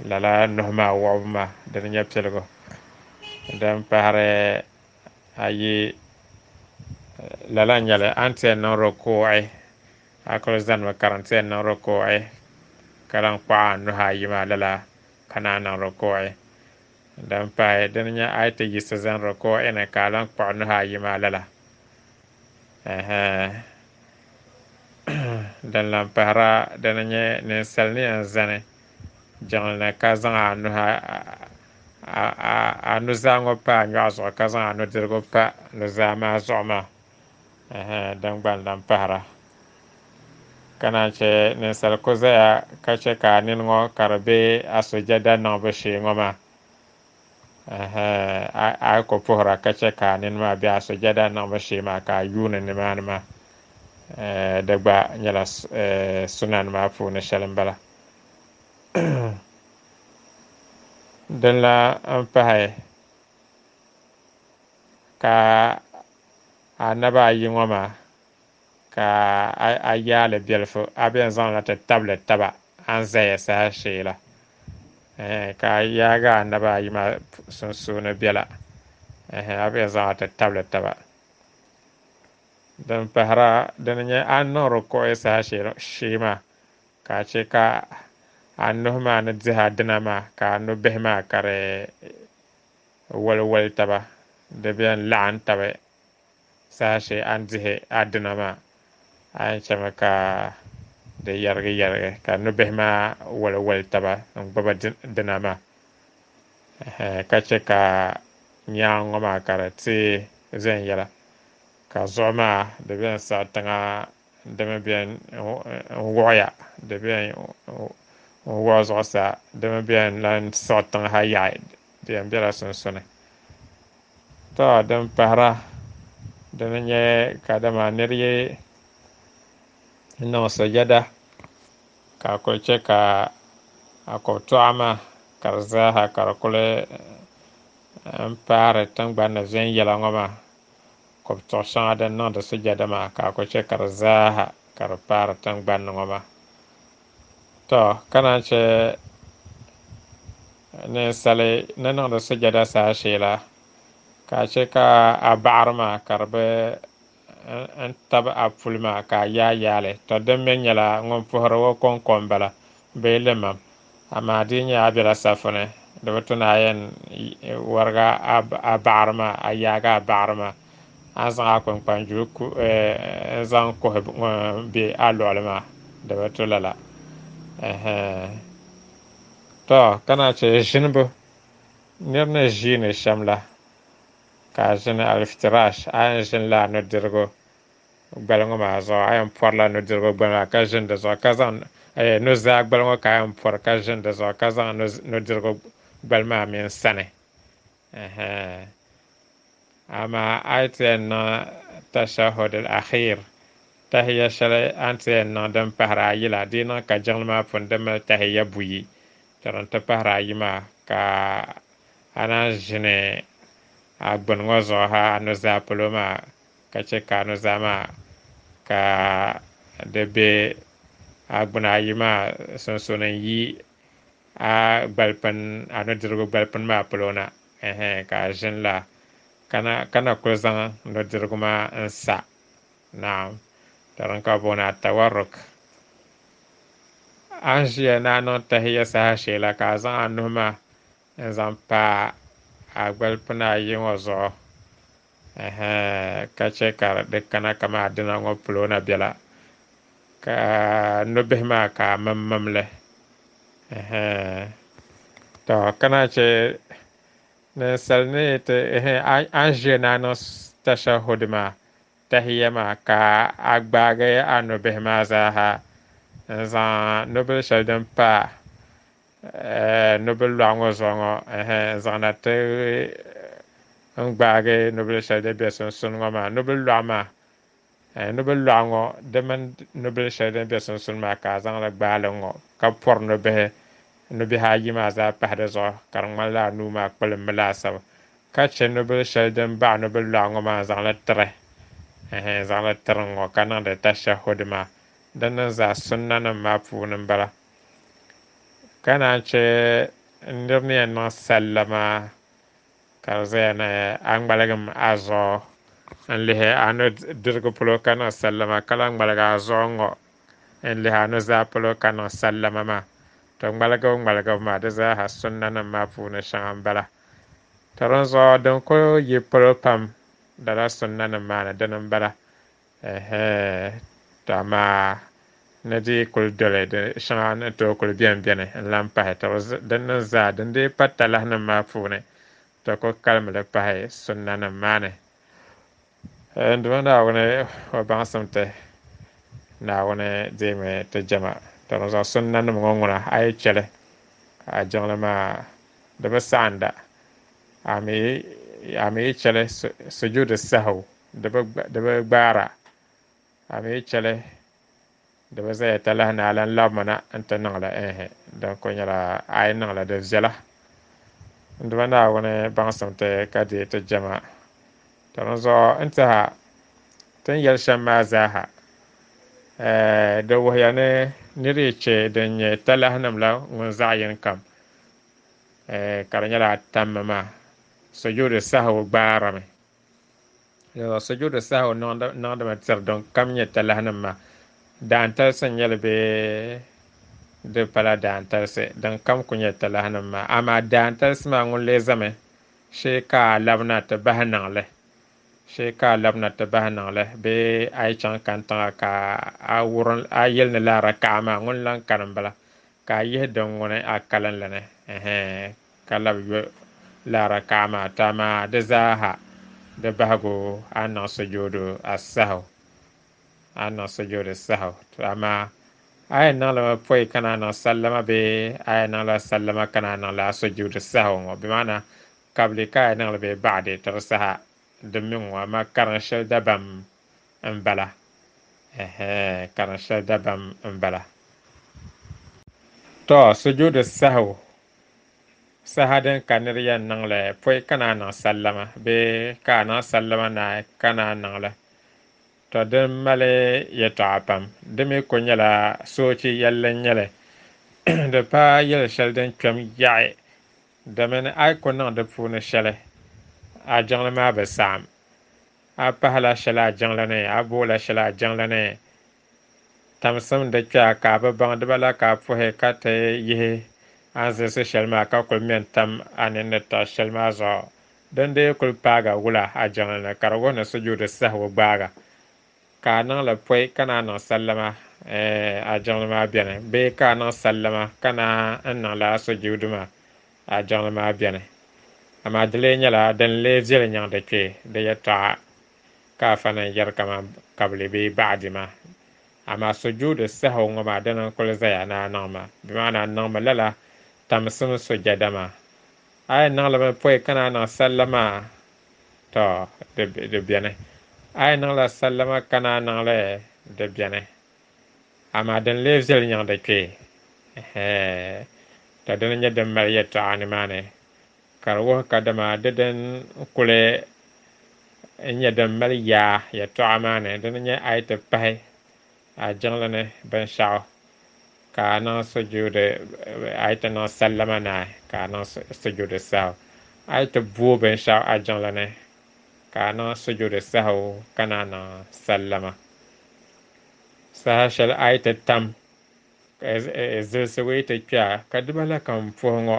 lala nuhi maa wuɣibu maa dini nyɛ piligu. Din pahiri ayi lala n-nyɛli a ni ti yɛn niŋ rukuu'i a kuli zanimi ka di ti yɛn niŋ rukuu'i ka lan kpaɣi a nuhi ayi maa lala ka naan niŋ rukuu'i. Din pahi dini nyɛ a yi ti yiɣisi zani rukuu'i ni ka a lan kpuɣi nuhi ayi maa lala. Din lan pahira dini nyɛ ninsal ni yɛn zani jiŋli ni ka zaŋ a nuhi a nuzaa ŋɔ pa a nyɔɣu zuɣu ka zaŋ a nudirigu pa nuzaa maa zuɣu maa din gba n-lan pahira. Ka naan che ninsal ku zaya ka che ka a nini ŋɔ ka di be a sujada niŋbu shee ŋɔ maa a yi ku puhira ka che ka a nini maa be a sujada niŋbu shee maa ka a yuuni nimaani maa di gba nyɛla sunan maa puuni shɛli m-bala. Din la m-pahi ka a naba ayi ŋɔ maa ka a yaali biɛlifu a bɛn zaŋla ti tabili taba a ni zaya saha shee la ka a yaagi a naba ayi maa sunsuuni biɛla a bɛn zaŋla ti tabili taba. Din pahira dini nyɛ a ni niŋ rukuu'i saha shee maa ka a che ka a nuhi maa ni dihi a dina maa ka a nubihi maa ka di waliwali taba di bɛn laɣim tabi saha shee a ni dihi a dina maa a yɛn chemi ka di yɛrigi yɛrigi ka nubihi maa waliwali taba n-gbubi dina maa ka che ka nyaaŋa ŋɔ maa ka di teei viɛnyɛla ka zuɣu maa di bɛn siɣi tiŋa di mi bɛn n-wuɣiya di bɛn n-wuɣi zuɣusaa di mi bɛn lan siɣi tiŋa ha yaɣi di yɛn bela sunsuuni. To din pahira dini nyɛ kadama nir yi niŋ sujada ka a kuli che ka a kɔbitɔɣa maa ka di zaaha ka di kuli m-paari tiŋgbani ni viɛnyɛla ŋɔ maa kɔbitɔɣ shɛŋa din niŋdi sujada maa ka a kuli che ka di zaaha ka di paari tiŋgbani ni ŋɔ maa. To ka naan che ninsali ni niŋdi sujada saha shee la ka a che ka a baɣiri maa ka di bi n-tabi a puli maa ka a yaai yaali. To din mi nyɛla ŋun puhiri o kɔŋko m-bala bee limam amaa di nyɛ a bela safu ni di bi tu ni a yɛn warigi a baɣiri maa a yaagi a baɣiri maa a zaŋ a kpunkpanjuli n-zaŋ kuhi be a luɣili maa di bi tu lala. To ka naan che ʒinibu nir ni ʒiini shɛm la ka a ʒini aliftirash a yɛn ʒinila a nudirigu gbali ŋɔ maa zuɣu a yɛn pɔrila nudirigu gbali maa ka ʒini di zuɣu ka zaŋ nuzaa gbali ŋɔ ka a yɛn pɔri ka ʒini di zuɣu ka zaŋ nudirigu gbali maa mini sani. Amaa a yi ti yɛn niŋ tashahud al-akhir, tahiya shɛli a ni ti yɛn niŋ din pahiri ayi la, di yi niŋ ka jiŋli maa pun di mali tahiya buyi, to din ti pahiri ayi maa ka a naan ʒini a gbuni ŋɔ zuɣu ha a nuzaa polo maa, ka chɛ ka a nuzaa maa ka di be a gbuni ayi maa sunsuuni n-yi a gbalipini, a nudirigu gbalipini maa polo na, ɛhɛn, ka a ʒini la ka na kuli zaŋ nudirigu maa n-sa. Naam, to din ka bɛ booni atawarruk. A ni ʒiya ni a niŋ tahiya saha shee la, ka a zaŋ a nuhi maa n-zaŋ pa a gbalipina ayi ŋɔ zuɣu, ɛhɛn, ka chɛ ka di kana kamani adina ŋɔ polo na bela, ka nubihi maa ka a mimmim li, ɛhɛn. To ka naan chɛ ninsal ni ti, ɛhɛn, a ni ʒiya ni a niŋ tashahud maa, tahiya maa, ka a gbaagi a nubihi maa zaaha n-zaŋ nubil shɛli din pa nubil lɔɣu ŋɔ zuɣu ŋɔ, ɛhɛn, n-zaŋ na ti n-gbaagi nubil shɛli din be sunsuuni ŋɔ maa, nubil lɔɣu maa, nubil lɔɣu ŋɔ di mini nubil shɛli din be sunsuuni maa ka a zaŋ li gbaai li ŋ-ŋɔ ka pɔri nubihi nubihi ayi maa zaa pahi di zuɣu ka di ŋmanila a nuu maa kpulimmi laasabu, ka chɛ nubil shɛli din baɣi nubil lɔɣu ŋɔ maa n-zaŋ li tiri, ɛhɛn, n-zaŋ li tiri ŋ-ŋɔ ka niŋdi tashahud maa. Din niŋ zaa sunnanim maa puuni m-bala. Ka naan chɛ nir ni yɛn niŋ sallama ka di zaya ni a ŋmaligim a zuɣu n-lihi a nudirigu polo ka niŋ sallama, ka lahi ŋmaligi a zuɣu ŋ-ŋɔ n-lihi a nuzaa polo ka niŋ sallama maa. To ŋmaligibu ŋmaligibu maa di zaaha sunnanim maa puuni shɛŋa m-bala. To dinzuɣu din kuli yi polo pam lala sunnanim maa ni dini m-bala. Ɛhɛn, to amaa ni di kuli doli di shɛŋa ni tooi kuli beni beni n-lan pahi. To din niŋ zaa din dii pa talahinim maa puuni, to ku kalimi li pahi sunnanim maa ni. N Duuma Naawuni o baŋsim ti, Naawuni deemi ti jɛma. To dinzuɣu sunnanim ŋɔ ŋuna a yi chɛ li, a jiŋli maa di bi saɣinda. A mi yi chɛ li sujuudi sahu di bi gbaara. A mi yi chɛ li di bi zaya talahi ni a lan labimi na nti niŋ li, ɛɛh, din kuli nyɛla a yi niŋ li di viɛla. N Duuma Naawuni baŋsim ti ka deei ti jɛma. To dinzuɣu n tiɛha ti ni yɛli shɛm maa zaaha, di wuhiya ni nir yi chɛ din nyɛ talahinim la ŋun zaɣ yini kam, ka di nyɛla a tammi maa, sujuudi sahu gbaarimi. Sujuudi sahu niŋdimi tiri din kam nyɛ talahinim maa. Daantalisi n-nyɛ li bee di pala daantalisi, din kam ku nyɛ talahinim maa. Amaa daantalisi maa ŋun lee zami shee ka a labina ti bahi niŋ li, shee ka a labina ti bahi niŋ li bee a yi chaŋ kantiŋa ka a wurim a yɛli ni laa rakaɣa maa ŋun lan kani m-bala, ka a yihi din ŋuni a kalinli ni, ɛhɛn, ka labi yo laa rakaɣa maa. To amaa di zaaha di bahigu a niŋ sujuudu asahu, a niŋ sujuudu sahu. To amaa a yɛn niŋ limi pɔi ka na niŋ sallama bee a yɛn niŋla sallama ka na niŋ laa sujuudu sahu ŋɔ, bɛ maana kabili ka a yɛn niŋ li bee baɣadi, to di saha di mi ŋɔ, amaa karin shɛli dabam m-bala, ɛhɛn, karin shɛli dabam m-bala. To sujuudu sahu saha din ka nir yɛn niŋ li pɔi ka na niŋ sallama bee ka a niŋ sallama naai ka na niŋ li, to din mali yɛtɔɣa pam. Di mi ku nyɛla soochi yɛlli n-nyɛ li. Di paai yɛl shɛli din kpɛm yaɣi, domini a yi ku niŋ di puuni shɛli, a jiŋli maa bi saɣim. A pahila shɛli a jiŋli ni, a boola shɛli a jiŋli ni, tamsim di kpɛa ka a bi baŋ diba la ka a puhi ka ti yihi a ni zilisi shɛli maa ka kuli mɛn tam a nini ni taɣi shɛli maa zuɣu. Din dii kuli paaga wula a jiŋli ni ka di wuhi ni sujuudi sahigu gbaaga, ka a niŋ li pɔi ka na niŋ sallama, a jiŋli maa beni, bee ka a niŋ sallama ka na n-niŋ lala sujuudu maa, a jiŋli maa beni. Amaa di lee nyɛla din lee viɛli nyaŋ di kpee di yɛtɔɣa ka afa ni yɛri kaman kabili bee baɣadi maa. Amaa sujuudi sahu ŋɔ maa dini n-kuli zaya ni a niŋ maa, bɛ maana a niŋmi lala tamsim sujada maa. A yɛn niŋ limi pɔi ka na niŋ sallama, To di beni. A yi niŋla sallama ka naa niŋli di beni. Amaa din lee viɛli nyaŋdi kpee. To dini nyɛ din mali yɛltɔɣa nimaani ka di wuhi kadama di din kuli nyɛ din mali yaa yɛltɔɣa maa ni dini nyɛ a yi ti pahi a jiŋli ni binshaɣu ka a niŋ sujuudi a yi ti niŋ sallama naai ka a niŋ sujuudi sahu a yi ti booi binshaɣu a jiŋli ni ka a niŋ sujuudi sahu ka naa niŋ sallama saha shɛli a yi ti tam zilisigu yi ti kpɛa ka dibala kam puhi ŋɔ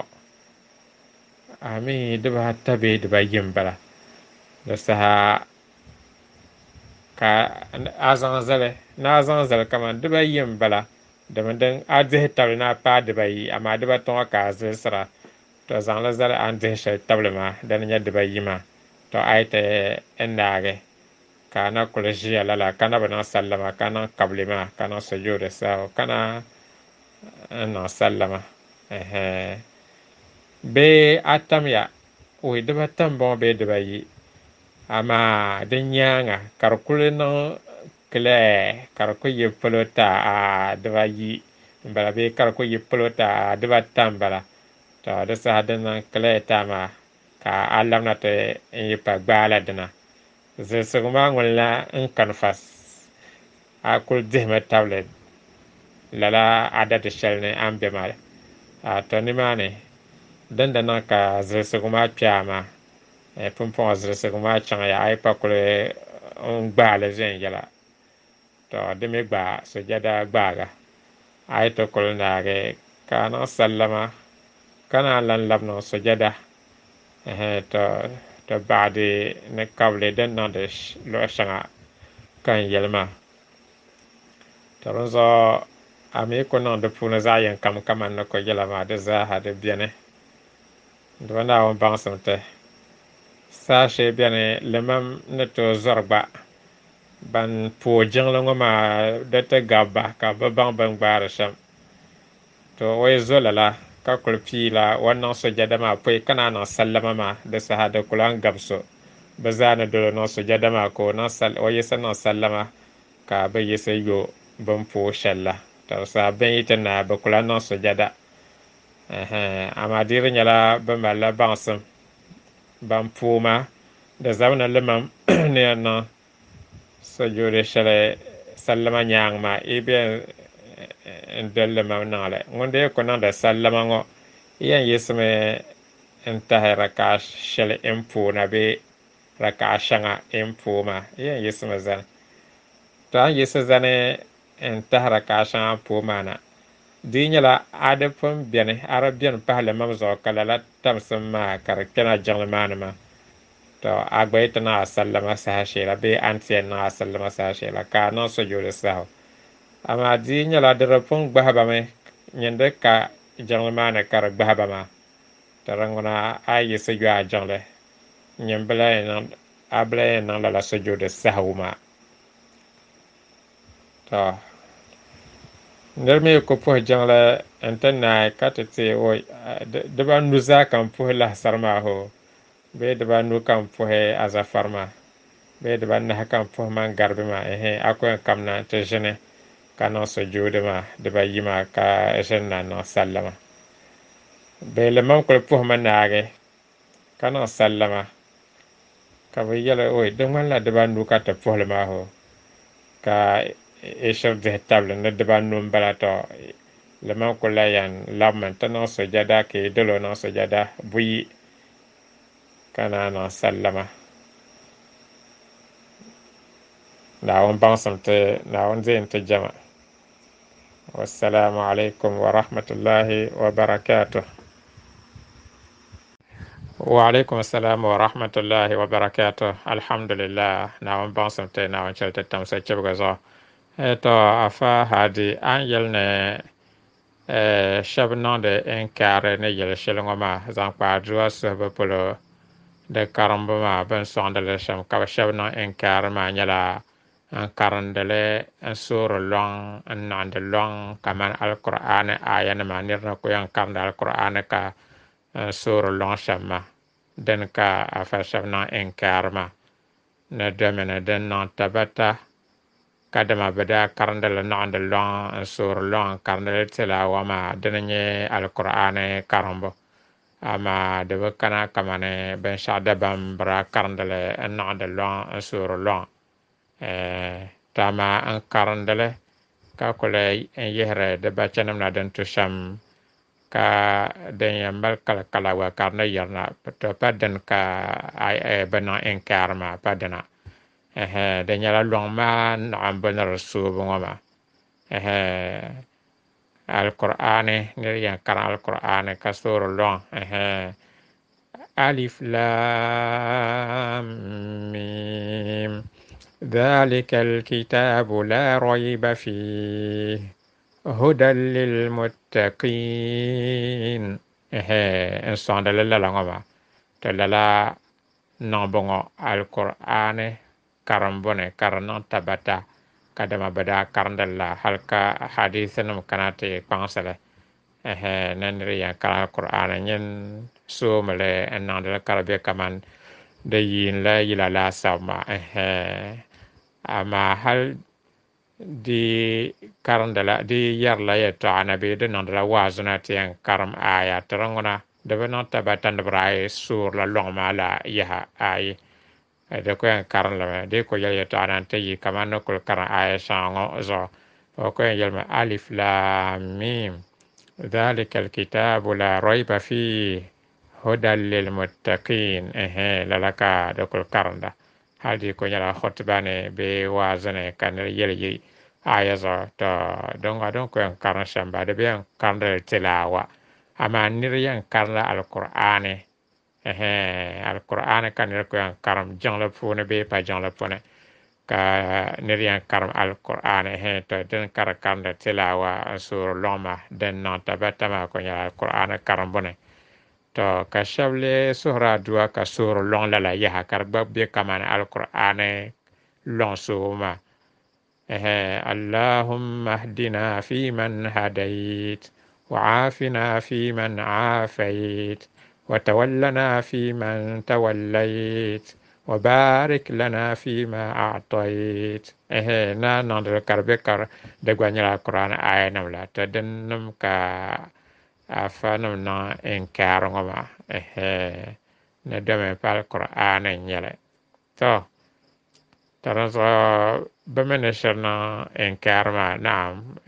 a mi dibaata bee dibayi m-bala di saha ka a zaŋ zali ni a zaŋ zali kamani dibayi m-bala domi din a dihi tabili ni a paai dibayi amaa dibata ŋɔ ka a zilisira to zaŋli zali a ni dihi shɛli tabili maa dini nyɛ dibayi maa to a yi ti naagi ka a na kuli ʒiya lala ka na bi niŋ sallama ka niŋ kabili maa ka niŋ sujuudi sahu ka na niŋ sallama bee a tamya oi dibata m-bɔŋɔ bee dibayi amaa di nyaaŋa ka di kuli niŋ clear ka di ku yi polo ta a dibayi m-bala bee ka di ku yi polo ta a dibata m-bala to di saha din niŋ clear ta maa ka a labina ti yi pa gbaala dina zilisigu maa ŋuni la n kani fas a kuli dihimi tabili lala adadi shɛli ni a ni be maa to nimaani din di niŋ ka zilisigu maa kpe a maa pumpɔŋɔ zilisigu maa chaŋya a yi pa kuli n gbaali viɛnyɛla to di mi gba sujada gbaaga a yi ti kuli naagi ka a niŋ sallama ka naan lan labi niŋ sujada to to baɣadi ni kabili din niŋdi luɣu shɛŋa ka n yɛli maa to dinzuɣu a mi ku niŋ di puuni zaɣ yini kam kamani ni ku yɛla maa di zaaha di beni dimi Naawuni baŋsim ti saha shee beni limam ni tooi zɔri gba ban pooi jiŋli ŋɔ maa di ti gabi ba ka bi baŋ bin gbaari shɛm to o yi zo lala ka kuli piila o ni niŋ sujada maa pɔi ka naa niŋ sallama maa di saha di kuli an gabi so bi zaa ni doli niŋ sujada maa ka o yiɣisi niŋ sallama ka bi yiɣisi yo bin pooi shɛli la to di saha bin yi ti naai bi kuli niŋ sujada amaa di di nyɛla bi malila baŋsim ban pooi maa di zabina limam ni yɛn niŋ sujuudi shɛli sallama nyaanga maa i bɛ n doli limam niŋli ŋun dee ku niŋdi sallama ŋɔ yɛn yiɣisimi n tahi rakaɣa shɛli n pooi na bee rakaɣa shɛŋa n pooi maa yɛn yiɣisimi zani to a ni yiɣisi zani n tahi rakaɣa shɛŋa n pooi maa na di nyɛla a di pun beni a di beni pahi limam zuɣu ka lala tamsim maa ka di kpɛna jiŋli maa ni maa to a gba yi ti niŋ a sallama saha shee la bee a ni ti yɛn niŋ a sallama saha shee la ka a niŋ sujuudi sahu amaa di nyɛla di di pun gbahi ba mi nyin di ka jiŋli maa ni ka di gbahi ba maa to di ŋuna a yi yiɣisi yo a jiŋli nyin bi lahi niŋ a bi lahi yɛn niŋ lala sujuudi sahu maa to niri mi ku puhi jiŋli n ti naai ka ti ti oi dibanu zaa ka n puhi lahisari maa hoo bee dibanu ka n puhi azafari maa bee dibanahi ka n puhi mangaribi maa ehe a ku yɛn kamina ti ʒini ka niŋ sujuudi maa dibayi maa ka ʒini na niŋ sallama bee limam kuli puhimi naagi ka niŋ sallama ka bi yɛli oi di ŋmanila dibanu ka ti puhili maa hoo ka i shiri dihi tabili ni dibanu m-bala to limam kuli lahi yɛn labimi n-ti niŋ sujada ka yi doli o niŋ sujada buyi ka naa niŋ sallama Naawuni baŋsim ti Naawuni deei n-ti jama wassalamu alaikum wa rahmatullahi wa barakatuh wa alaikum assalam wa rahmatullahi wa barakatuh alhamdulillah Naawuni baŋsim ti Naawuni chɛli ti tam sochibigi zuɣu to afa hadi an yɛli ni shɛba niŋdi inkaari ni yɛli shɛli ŋɔ maa zaŋ kpa adua suhibu polo di karimbu maa bin sɔŋdi li shɛm ka bi shɛba niŋ inkaari maa nyɛla n karindili n soori lɔŋ n niŋdi lɔŋ kamani alkur'aani aya nima niri ni ku yɛn karindi alkur'aani ka n soori lɔŋ shɛm maa Din ka afa shɛba niŋ inkaari maa ni domini din niŋ tabata kadama bɛ daa karindili niɣindi lɔŋ n-soori lɔŋ n-karindili tilaawa maa dini nyɛ Alkur'aani karimbu. Amaa di bi kana kamani binshɛɣu dabam bɛ daa karindili n-niɣindi lɔŋ n-soori lɔŋ to amaa n karindili ka kuli n yihiri di bachanima na din tu shɛm ka din yɛn mali kalikala gba ka di ni yirina to pa dini ka bɛ niŋ inkaari maa pa dina. Di nyɛla lɔŋ maa naɣimbu ni di soobu ŋɔ maa. Alkur'aani niri yɛn karim Alkur'aani ka soori lɔŋ alif lam mim dhalika alkitabu la rayba fihi hudan lilmuttaqin. N sɔŋdili lala ŋɔ maa to lala niŋbu ŋɔ Alkur'aani karimbu ni ka di niŋ tabata kadama bɛ daa karindili la hali ka hadisinima kana ti kpaŋsili ni niri yɛn karim Alkur'aani nyin soomili n niŋdili ka di be kaman di yiinila yila laasabu maa. Amaa hali di karindila di yɛrila yɛltɔɣa na bee di niŋdila waazu na ti yɛn karim aya ti di ŋuna di bi niŋ tabata ni bɛ daa soorila lɔŋ maa la yaha ayi di ku yɛn karinlimi di ku yɛli yɛltɔɣa na n-ti yi kamani ni kuli karim aya shɛŋa ŋɔ zuɣu o ku yɛn yɛlimi alif lam mim dhalika alkitabu la rayba fihi hudan lilmuttaqin. Lala ka di kuli karinda hali di ku nyɛla khutuba ni bee waazu ni ka niri yɛli yi aya zuɣu to din ŋɔ din ku yɛn karim shɛm ba di bi yɛn karindili tilaawa amaa niri yɛn karinla Alkur'aani. Alkur'aani ka niri ku yɛn karim jiŋli puuni bee pa jiŋli puuni ka niri yɛn karim Alkur'aani to din ka di karindi tilaawa n soori lɔŋ maa din niŋ tabata maa ku nyɛla Alkur'aani karimbu ni. To ka shɛba lee suhuri adua ka soori lɔŋ lala yaha ka di gba be kamani Alkur'aani lɔŋ soobu maa. Allahumma hdina fi man hadayt wa aafina fi man aafayt wa tawallana fi man tawallayt wa barik lana fi ma a'tayt. Na niŋdili ka di be ka di gba nyɛla Alkur'aani aya nim la to din nim ka afa nim niŋ inkaari ŋɔ maa ni domi pa Alkur'aani n-nyɛli. To to di zuɣu bɛ mi ni shiri niŋ inkaari maa naam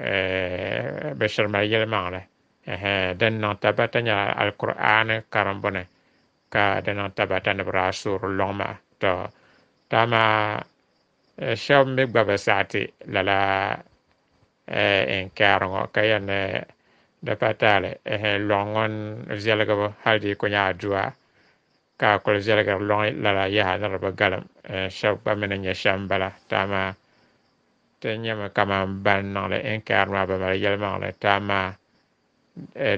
bɛ shiri mali yɛlimaŋli. Din niŋ tabata nyɛla Alkur'aani karimbu ni ka di niŋ tabata ni bɛ daa soori lɔŋ maa. To to amaa shɛba mi gba bi saɣiti lala inkaari ŋɔ ka yɛn ni di pa taali lɔŋ ŋɔ viɛligibu hali di ku nyɛ adua ka a kuli viɛligiri lɔŋ lala yaha ni di bi galim. Shɛba gba mi ni nyɛ shɛm bala to amaa ti nyɛmi kaman ban niŋli inkaari maa bi mali yɛlimaŋli to amaa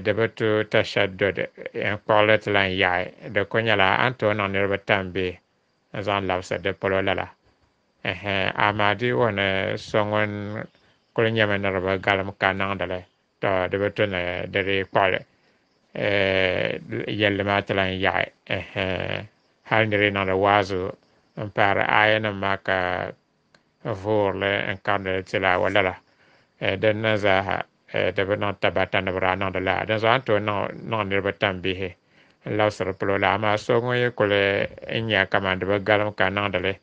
di bi tu tashaddud n kpuɣili ti lan yaɣi di ku nyɛla a ni tooi niŋ niriba tambihi n zaŋ labisi di polo lala. Amaa di wuhi ni so ŋun kuli nyɛmi ni di bi galim ka niŋdili to di bi tu ni di di kpuɣili yɛlli maa ti lan yaɣi hali niri niŋdi waazu n paari aya nim maa ka voorili n karindili tilaawa lala din na zaaha di bi niŋ tabata ni bi daa niŋdi lala. Din zuɣu a ni tooi niŋ niriba tambihi n labisiri polo la amaa so ŋun yi kuli n nya kaman di bi galim ka niŋdili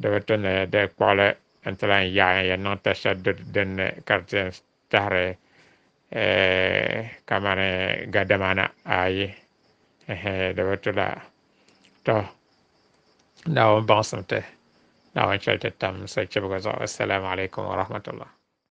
di bi tu ni di kpuɣili n ti lan yaɣi yɛn niŋ tashaddud dinni ka di ti yɛn tahiri kamani gadama na ayi di bi tu la. To Naawuni baŋsim ti Naawuni chɛli ti tam sochibigi zuɣu. Assalamu alaikum wa rahmatullah.